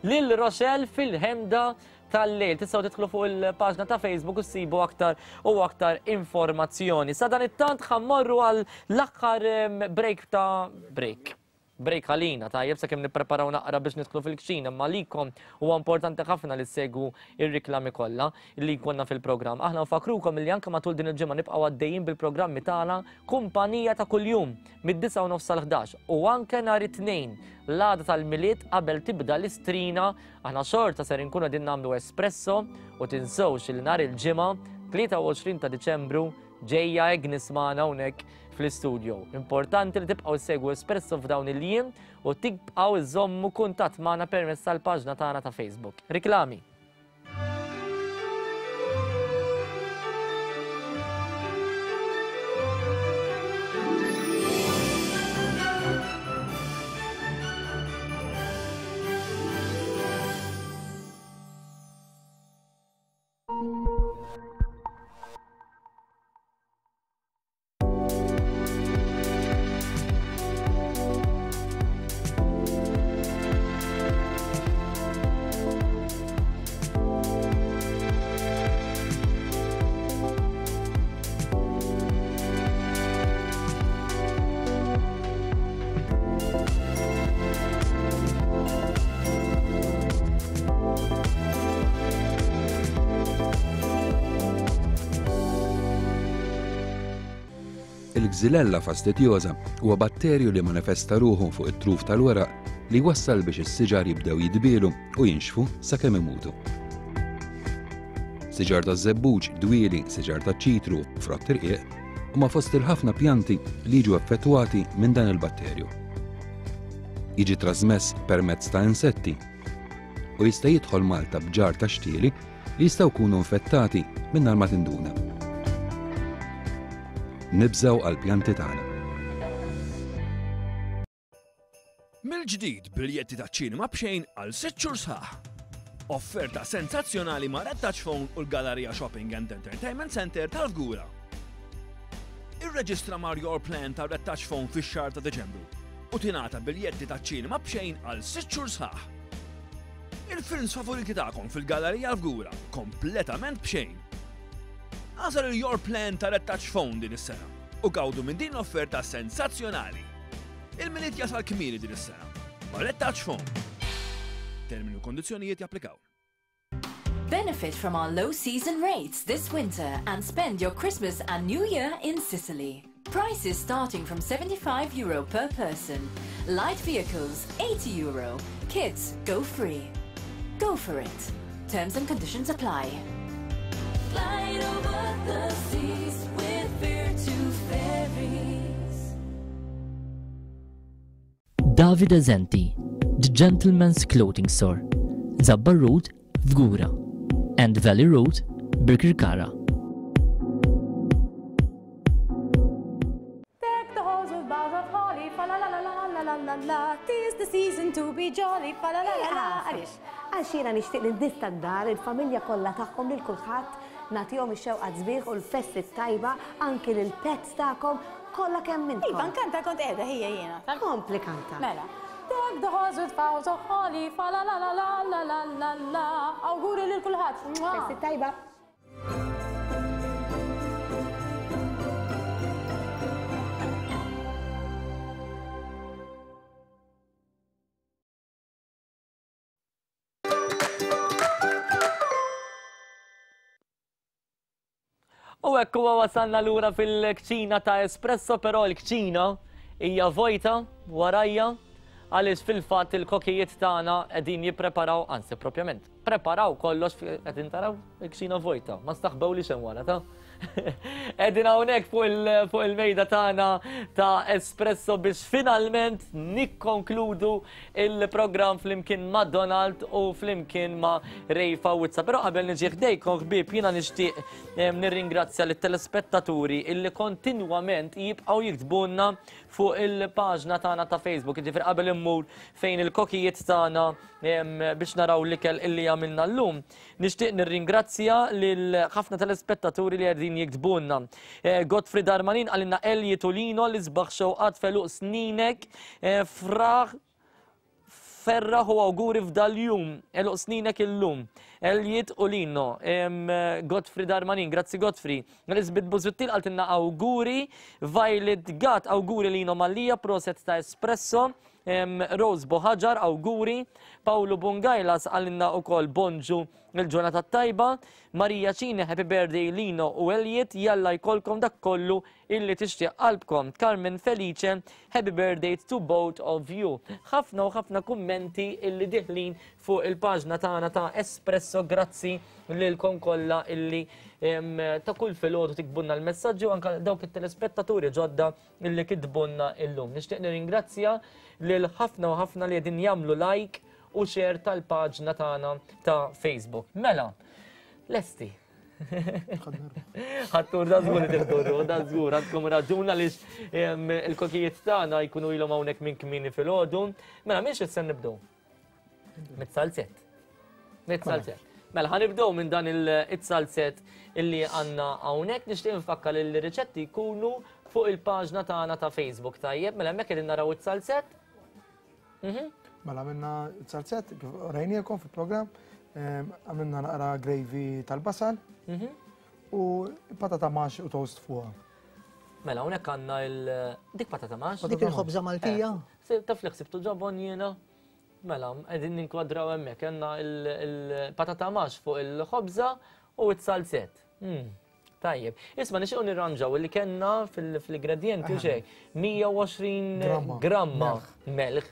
lil Rochelle fil-ħemda tal-lejl. Tistgħu tidħlu fuq il-paġna ta' Facebook u ssibu aktar u aktar informazzjoni. Sa dan it-tant ħa mmorru għal l-aħħar em, break ta' break. Break għalina, tajjeb, sakemm nippreparaw naqra biex nidħlu fil-kċina, imma likom huwa importanti ħafna li ssegwu ir-riklami kollha li jkollna fil-programm. Aħna nfakrukom li anke matul din il-ġimgħa nibqgħu għaddejjin bil-programmi tagħna Kumpanija ta' kuljum mid-disgħa u nofs sal-ħdax u anke nhar it-Tnejn l-għada tal-Milied qabel tibda l-istrina aħna xorta ser inkunu qegħdin nagħmlu espresso u tinsewx li nhar il-ġimgħa tlieta u għoxrin ta' Diċembru ġejja Agnes magħna hawnhekk fl-istudio. Importanti li tibqgħu ssegwu Espresso f'dawn il-jiem u tibqgħu iżommu kuntatt magħna permezz tal-paġna tagħna ta' Facebook. Riklami. Il-Xylella fastidiosa huwa batterju li manifesta ruħu fuq it-truf tal-weraq li jwassal biex is-siġar jibdew jidbielu u jinxfu sakemm imutu. Siġar taż-żebbuġ, dwieli, siġar taċ-ċitru, frott irqiq huma fost il-ħafna pjanti li jiġu effettwati minn dan il-batterju. Jiġi trasmess permezz ta' insetti u jista' jidħol Malta b'ġar ta' xtieli li jistgħu jkunu infettati mingħajr ma tinduna. Nibżgħu għall-pjanti tagħna. Mill-ġdid biljetti ta' ċinema b'xejn għal sitt xhur sħaħ. Offerta sensazzjonali ma' Red Touch Phone u l-Galleria Shopping and Entertainment Center tal-Fgura. Irreġistra mar Your Plan ta' Red Touch Phone fix-xahar ta' Deċembru u tingħata biljetti ta' ċinema b'xejn għal sitt xhur sħaħ. Il-films favoriti tagħkom fil-Gallerija l-Fgura kompletament b'xejn. Għażel il-Your Plan ta' Red Touch Phone din is-sena u gawdu minn din l-offerta sensazzjonali. Il-Milied jasal kmieni din is-sena ma' Red Touch Phone. Termini u kondizzjonijiet japplikaw. Benefit from our low season rates this winter and spend your Christmas and New Year in Sicily. Prices starting from seventy-five euro per person. Light vehicles, eighty euro. Kids go free. Go for it. Terms and conditions apply. Glide over the seas with Virtu Ferries. Davide Zenti, The Gentleman's Clothing Store, Zabbar Road, Fgura, and Valley Road, Birkirkara. Deck the halls with boughs of holly, fa la la la la la la la la. 'Tis the season to be jolly, fa la la la la. Għaliex? Għax jiena nixtieq li n-nies tad-dar, il-familja kollha tagħkom, lil kulħadd nagħtihom ix-xewqa sbieħ u l-festi tajba, anki lil pets tagħkom kollha kemm minnkom. Iva, nkanta kont qiegħda ħija jiena. Kompli kanta. Mela. Deck the halls with boughs of holly, fa la la la la la la la la. Awguri lil kulħadd. Festi tajba. U hekk huwa wasalna lura fil-kċina ta' Espresso, però l-kċina hija vojta warajja għaliex fil-fatt il-kokijiet tagħna qegħdin jippreparaw, anzi propjament, preparaw kollox, qegħdin taraw il-kċina vojta, ma staħbew li xem wara ta'. Qegħdin hawnhekk fuq il-mejda tagħna ta' Espresso biex finalment nikkonkludu il-programm flimkien ma' Donald u flimkien ma' Ray Fawizza. Però qabel niġi ħdejkom ħbieb, jiena nixtieq nirringrazzja lit-telespettaturi illi kontinwament jibqgħu jiktbulna fuq il-paġna tagħna ta' Facebook. Jiġifieri qabel immur fejn il-kokijiet tagħna biex naraw l-ikel illi għamilna llum, nixtieq nirringrazzja lil ħafna telespettaturi li qegħdin jiktbulna. Godfrey Darmanin qalilna Elji Tulino li sbaħ xewqat feluq sninek, fraħ ferraħ u awguri f'dal-jum, għeluq sninek illum. Elliot u Lino, Godfrey Darmanin, grazzi Godfrey. Elizabeth Buzuttil qaltilna awguri, Violet Gat, awguri Lino Mallia, proset ta' Espresso, Rose Boħaġar, awguri, Paolo Bungajlas qalilna u kol bonġu il-ġurnata tajba, Maria Cini, happy birthday Lino u Elliot, jalla jkollkom dak kollu illi tixtieq qalbkom. Carmen Felice, happy birthday to both of you. Ħafna u ħafna kummenti illi diħlin fuq il-paġna tagħna ta' Espresso, grazzi lilkom kollha illi ta' kull filgħodu tiktbulna l-messaġġi u anke dawk it-telespettaturi ġodda illi kitbulna illum. Nixtieq nirringrazzja lil ħafna u ħafna li qegħdin jagħmlu like u share tal-paġna tagħna ta' Facebook. Mela, lesti. Ħattur da żgur tidurru, da żgur, għandkom raġun għaliex il-kokijiet tagħna jkunu ilhom hawnhekk minn kmieni filgħodu. Mela, minn xi se nibdew? Mit-salzett. Mit-salzett. Mela, ħa nibdew minn dan il-salzett illi għandna hawnhekk. Nixtieq nfakkar li l-riċetti jkunu fuq il-paġna tagħna ta' Facebook, tajjeb. Mela hemmhekk qegħdin naraw it-salzett. Mhm. Mela għamilna salzett, kif rajnielkom fil-programm, għamilna naqra gravy tal-basal Mhm. u patata mash u toast fuqha. Mela, hawnhekk għandna il dik patata mash. Dik il-ħobża Maltija? Eh, taf li ħsibtu ġobon jiena. Mela, qegħdin ninkwadraw hemmhekk għandna il-patata mash fuq il-ħobża u t-salzett. Mm, Tajjeb. Isma' nixtiequ nirranġaw li kellna fil-ingredienti u xejn. mija u għoxrin gramma melħ.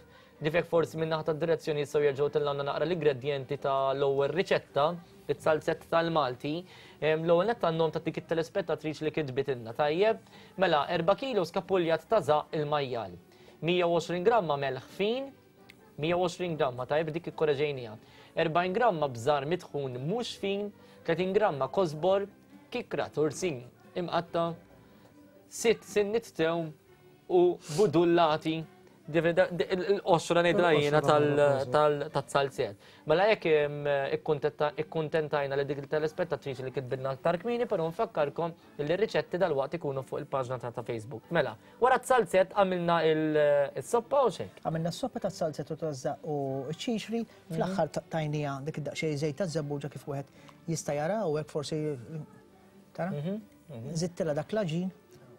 Difek forsi minn naħa tad-direzzjoni jistgħu jerġgħu tellgħulna naqra l-ingredienti tal-ewwel riċetta, it-salzett tal-Malti. L-ewwel nett għandhom ta' dik it-telespettatriċi li kitbitilna. Tajjeb. Mela, erba' kilos kapuljat ta' żaqq il-majjal. mija u għoxrin gramma melħ fin, mija u għoxrin gramma, tajjeb dik ikkoreġejnija. erbgħin gramma bżar mitħun mhux fin, tletin gramma kosbor, kikra tursin imqatta, sitt sinnit tewm u budullati, il-qoxra ngħidha jiena tal-salzett. Mela jekk ikkuntentajna li dik il-telespettatriċi li kitbidna aktar kmieni, però nfakkarkom li r-riċetti dalwaqt ikunu fuq il-paġna ta' Facebook. Mela, wara t-salzett għamilna il-soppa u xek? Għamilna s-soppa tas-salzett u taż-żaqq u ċ-ċiċri, fl-aħħar tajnija dik id-daqsxejn żejt taż-żebbuġa kif wieħed jista' jara u hekk forsi tara? Żidtilha dak l-għaġin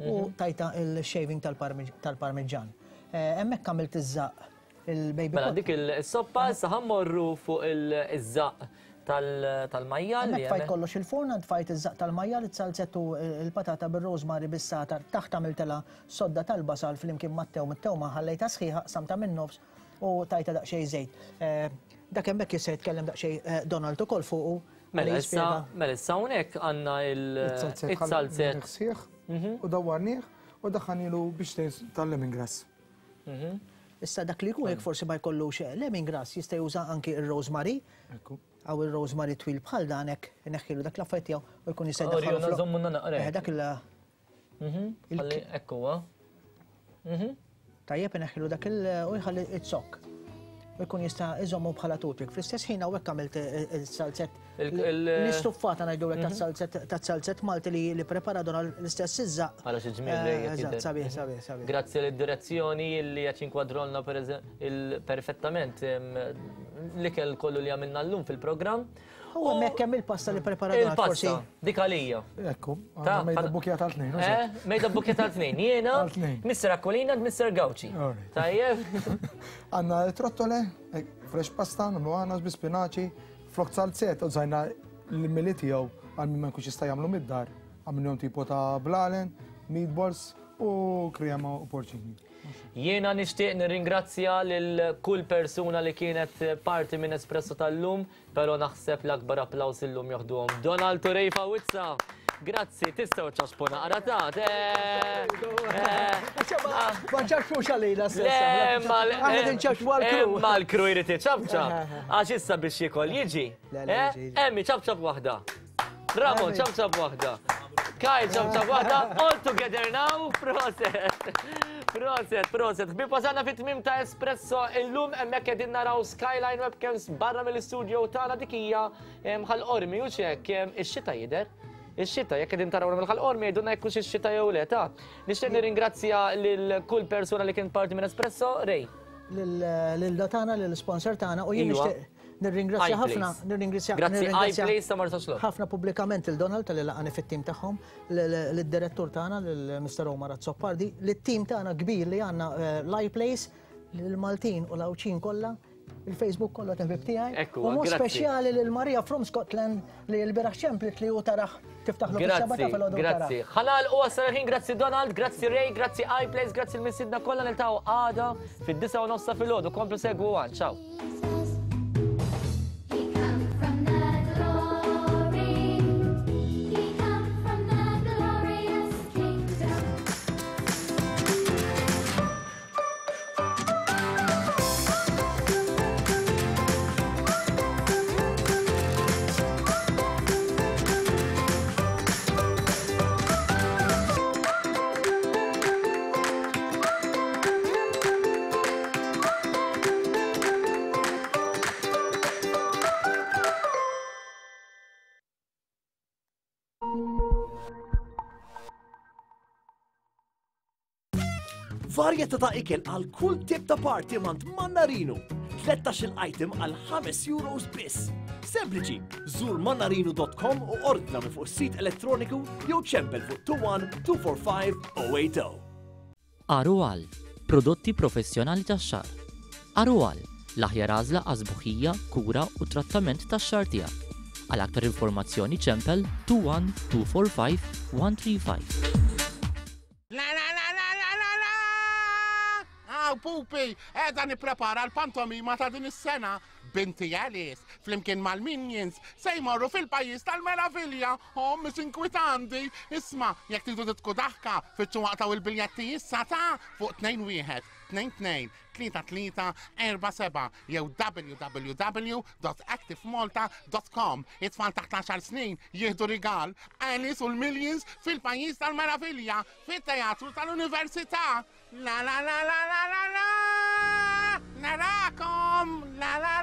u tajta il-shaving tal-parmiġġan. Hemmhekk għamilt iż-żaqq il-baby. Mela dik il-soppa issa ħammorru fuq iż-żaqq tal-majjal. Hemmhekk tfajt kollox il-forn, tfajt iż-żaqq tal-majjal, it-salzett u l-patata bir-rosemary bis-satar, taħt għamiltilha sodda tal-basal flimkien mat-tewm, it-tewma ħallejtha sħiħa, qsamtha min-nofs u tajta daqsxejn żejt. Dak hemmhekk jista' jitkellem daqsxejn Donald ukoll fuqu. Mela issa mela issa hawnhekk għandna il-salzett u dawwarnieh u daħħanilu biex tal-lemongrass. Issa dak li jkun jekk forsi ma jkollux lemongrass jista' juża anki ir-rosemary. Aw ir-rosemary twil bħal dan hekk ineħħilu dak l-affarijiet tiegħu u jkun jista' jdaħħalu. Dak il Hekk huwa. Tajjeb ineħħilu dak il u jħalli it-zokk. U jkun jista' iżommu bħala toothpick. Fl-istess ħin hawnhekk għamilt il-salzett l-istuffata ngħidulek tas-salzett Malti li prepara Donald l-istess iż-żaqq. Għala xi ġmiel lejja Eżatt, sabiħ, sabiħ, sabiħ. Grazzi lid-direzzjoni li qed jinkwadrolna perfettament l-ikel kollu li għamilna llum fil-programm. U hemmhekk hemm il-pasta li prepara Donald forsi. Il-pasta, dik għalija. Ekku, mejda bukja tal-tnejn. Eh, mejda bukja tal-tnejn. Jiena, Mister Aquilina, Mister Gauci. Tajjeb. Għandna trottole, fresh pasta, nagħmlu għana bi spinaċi, flok salzett, u żajna l-mili tiegħu għal min ma jkunx jista' jagħmlu mid-dar. Għamilhom tipo ta' blalen, meatballs u krema u porċini. Jiena nixtieq nirringrazzja lil kull persuna li kienet parti minn Espresso tal-lum, però naħseb l-akbar applaws illum joħduhom Donald u Ray Fawizza. Grazzi, tistgħu ċaxpu naqra ta' Ma ċaxpux għalina stessa. Aħna nċaxpu għall-kru. Ma l-kru jrid iċabċab. Għax issa biex jiekol jiġi. Emmi ċabċab waħda. Ramon ċabċab waħda. Kyle ċabċab waħda. All together now. Proset. Proset, proset. Ħbieb wasalna fit-tmiem ta' Espresso illum hemmhekk qegħdin naraw Skyline Webcams barra mill-istudio tagħna dik hija Ħal Qormi u x'hekk ix-xita jidher. Ix-xita jekk qegħdin taraw mill-Ħal Qormi jgħidulna jekk hux ix-xita jew le ta'. Nixtieq nirringrazzja lil kull persuna li kien parti minn Espresso, Ray. Lil tagħna, lill-sponsor tagħna u jien nixtieq nirringrazzja ħafna, nirringrazzja Grazzi iPlace ta' Marsaxlokk. Ħafna pubblikament il Donald tal-li laqani fit-tim tagħhom, lid-direttur tagħna lil Mister Omar Azzopardi, lit-tim tagħna kbir li għandna l-iPlace, lill-Maltin u l-Għawdxin kollha, il-Facebook kollha ta' ħbieb tiegħi. U mod speċjali lil Maria from Scotland li l-bieraħ ċemplit li hu taraħ tiftaħlu fis-seba' ta' filgħodu. Grazzi. Ħalal u għasal ħin, grazzi Donald, grazzi Ray, grazzi iPlace, grazzi l-missiedna kollha niltaqgħu għada fid-disgħa u nofs filgħodu. Komplu segwu għan. Ciao. Varjetà ta' ikel għal kull tip ta' party mant Mannarino. tlettax-il item għal ħames euros biss. Sempliċi, żur mannarino dot com u ordna minn fuq is-sit elettroniku jew ċempel fuq two one two four five oh eight oh. Arual, prodotti professjonali tax-xagħar. Arual, l-aħjar għażla għas-sbuħija, kura u trattament tax-xagħar tiegħek. Għal aktar informazzjoni ċempel two one two four five one three five. La la la la la la la! Aw, pupi, qiegħda nipprepara l-pantomima ta' din is-sena. Binti Alice, flimkien mal-Minions, se jmorru fil-pajjiż tal-meravilja. Oh, mhux inkwitanti. Isma', jekk tridu titku daħka, fitxu waqtaw il-biljetti issa ta' fuq tnejn wieħed, tnejn tnejn, tlieta tlieta, erba' seba' jew w w w dot active malta dot com. It-tfal taħt għaxar snin jieħdu rigal Alice u l-Minions fil-pajjiż tal-meravilja fit-teatru tal-Università. La la la la la la la! Narakom! La la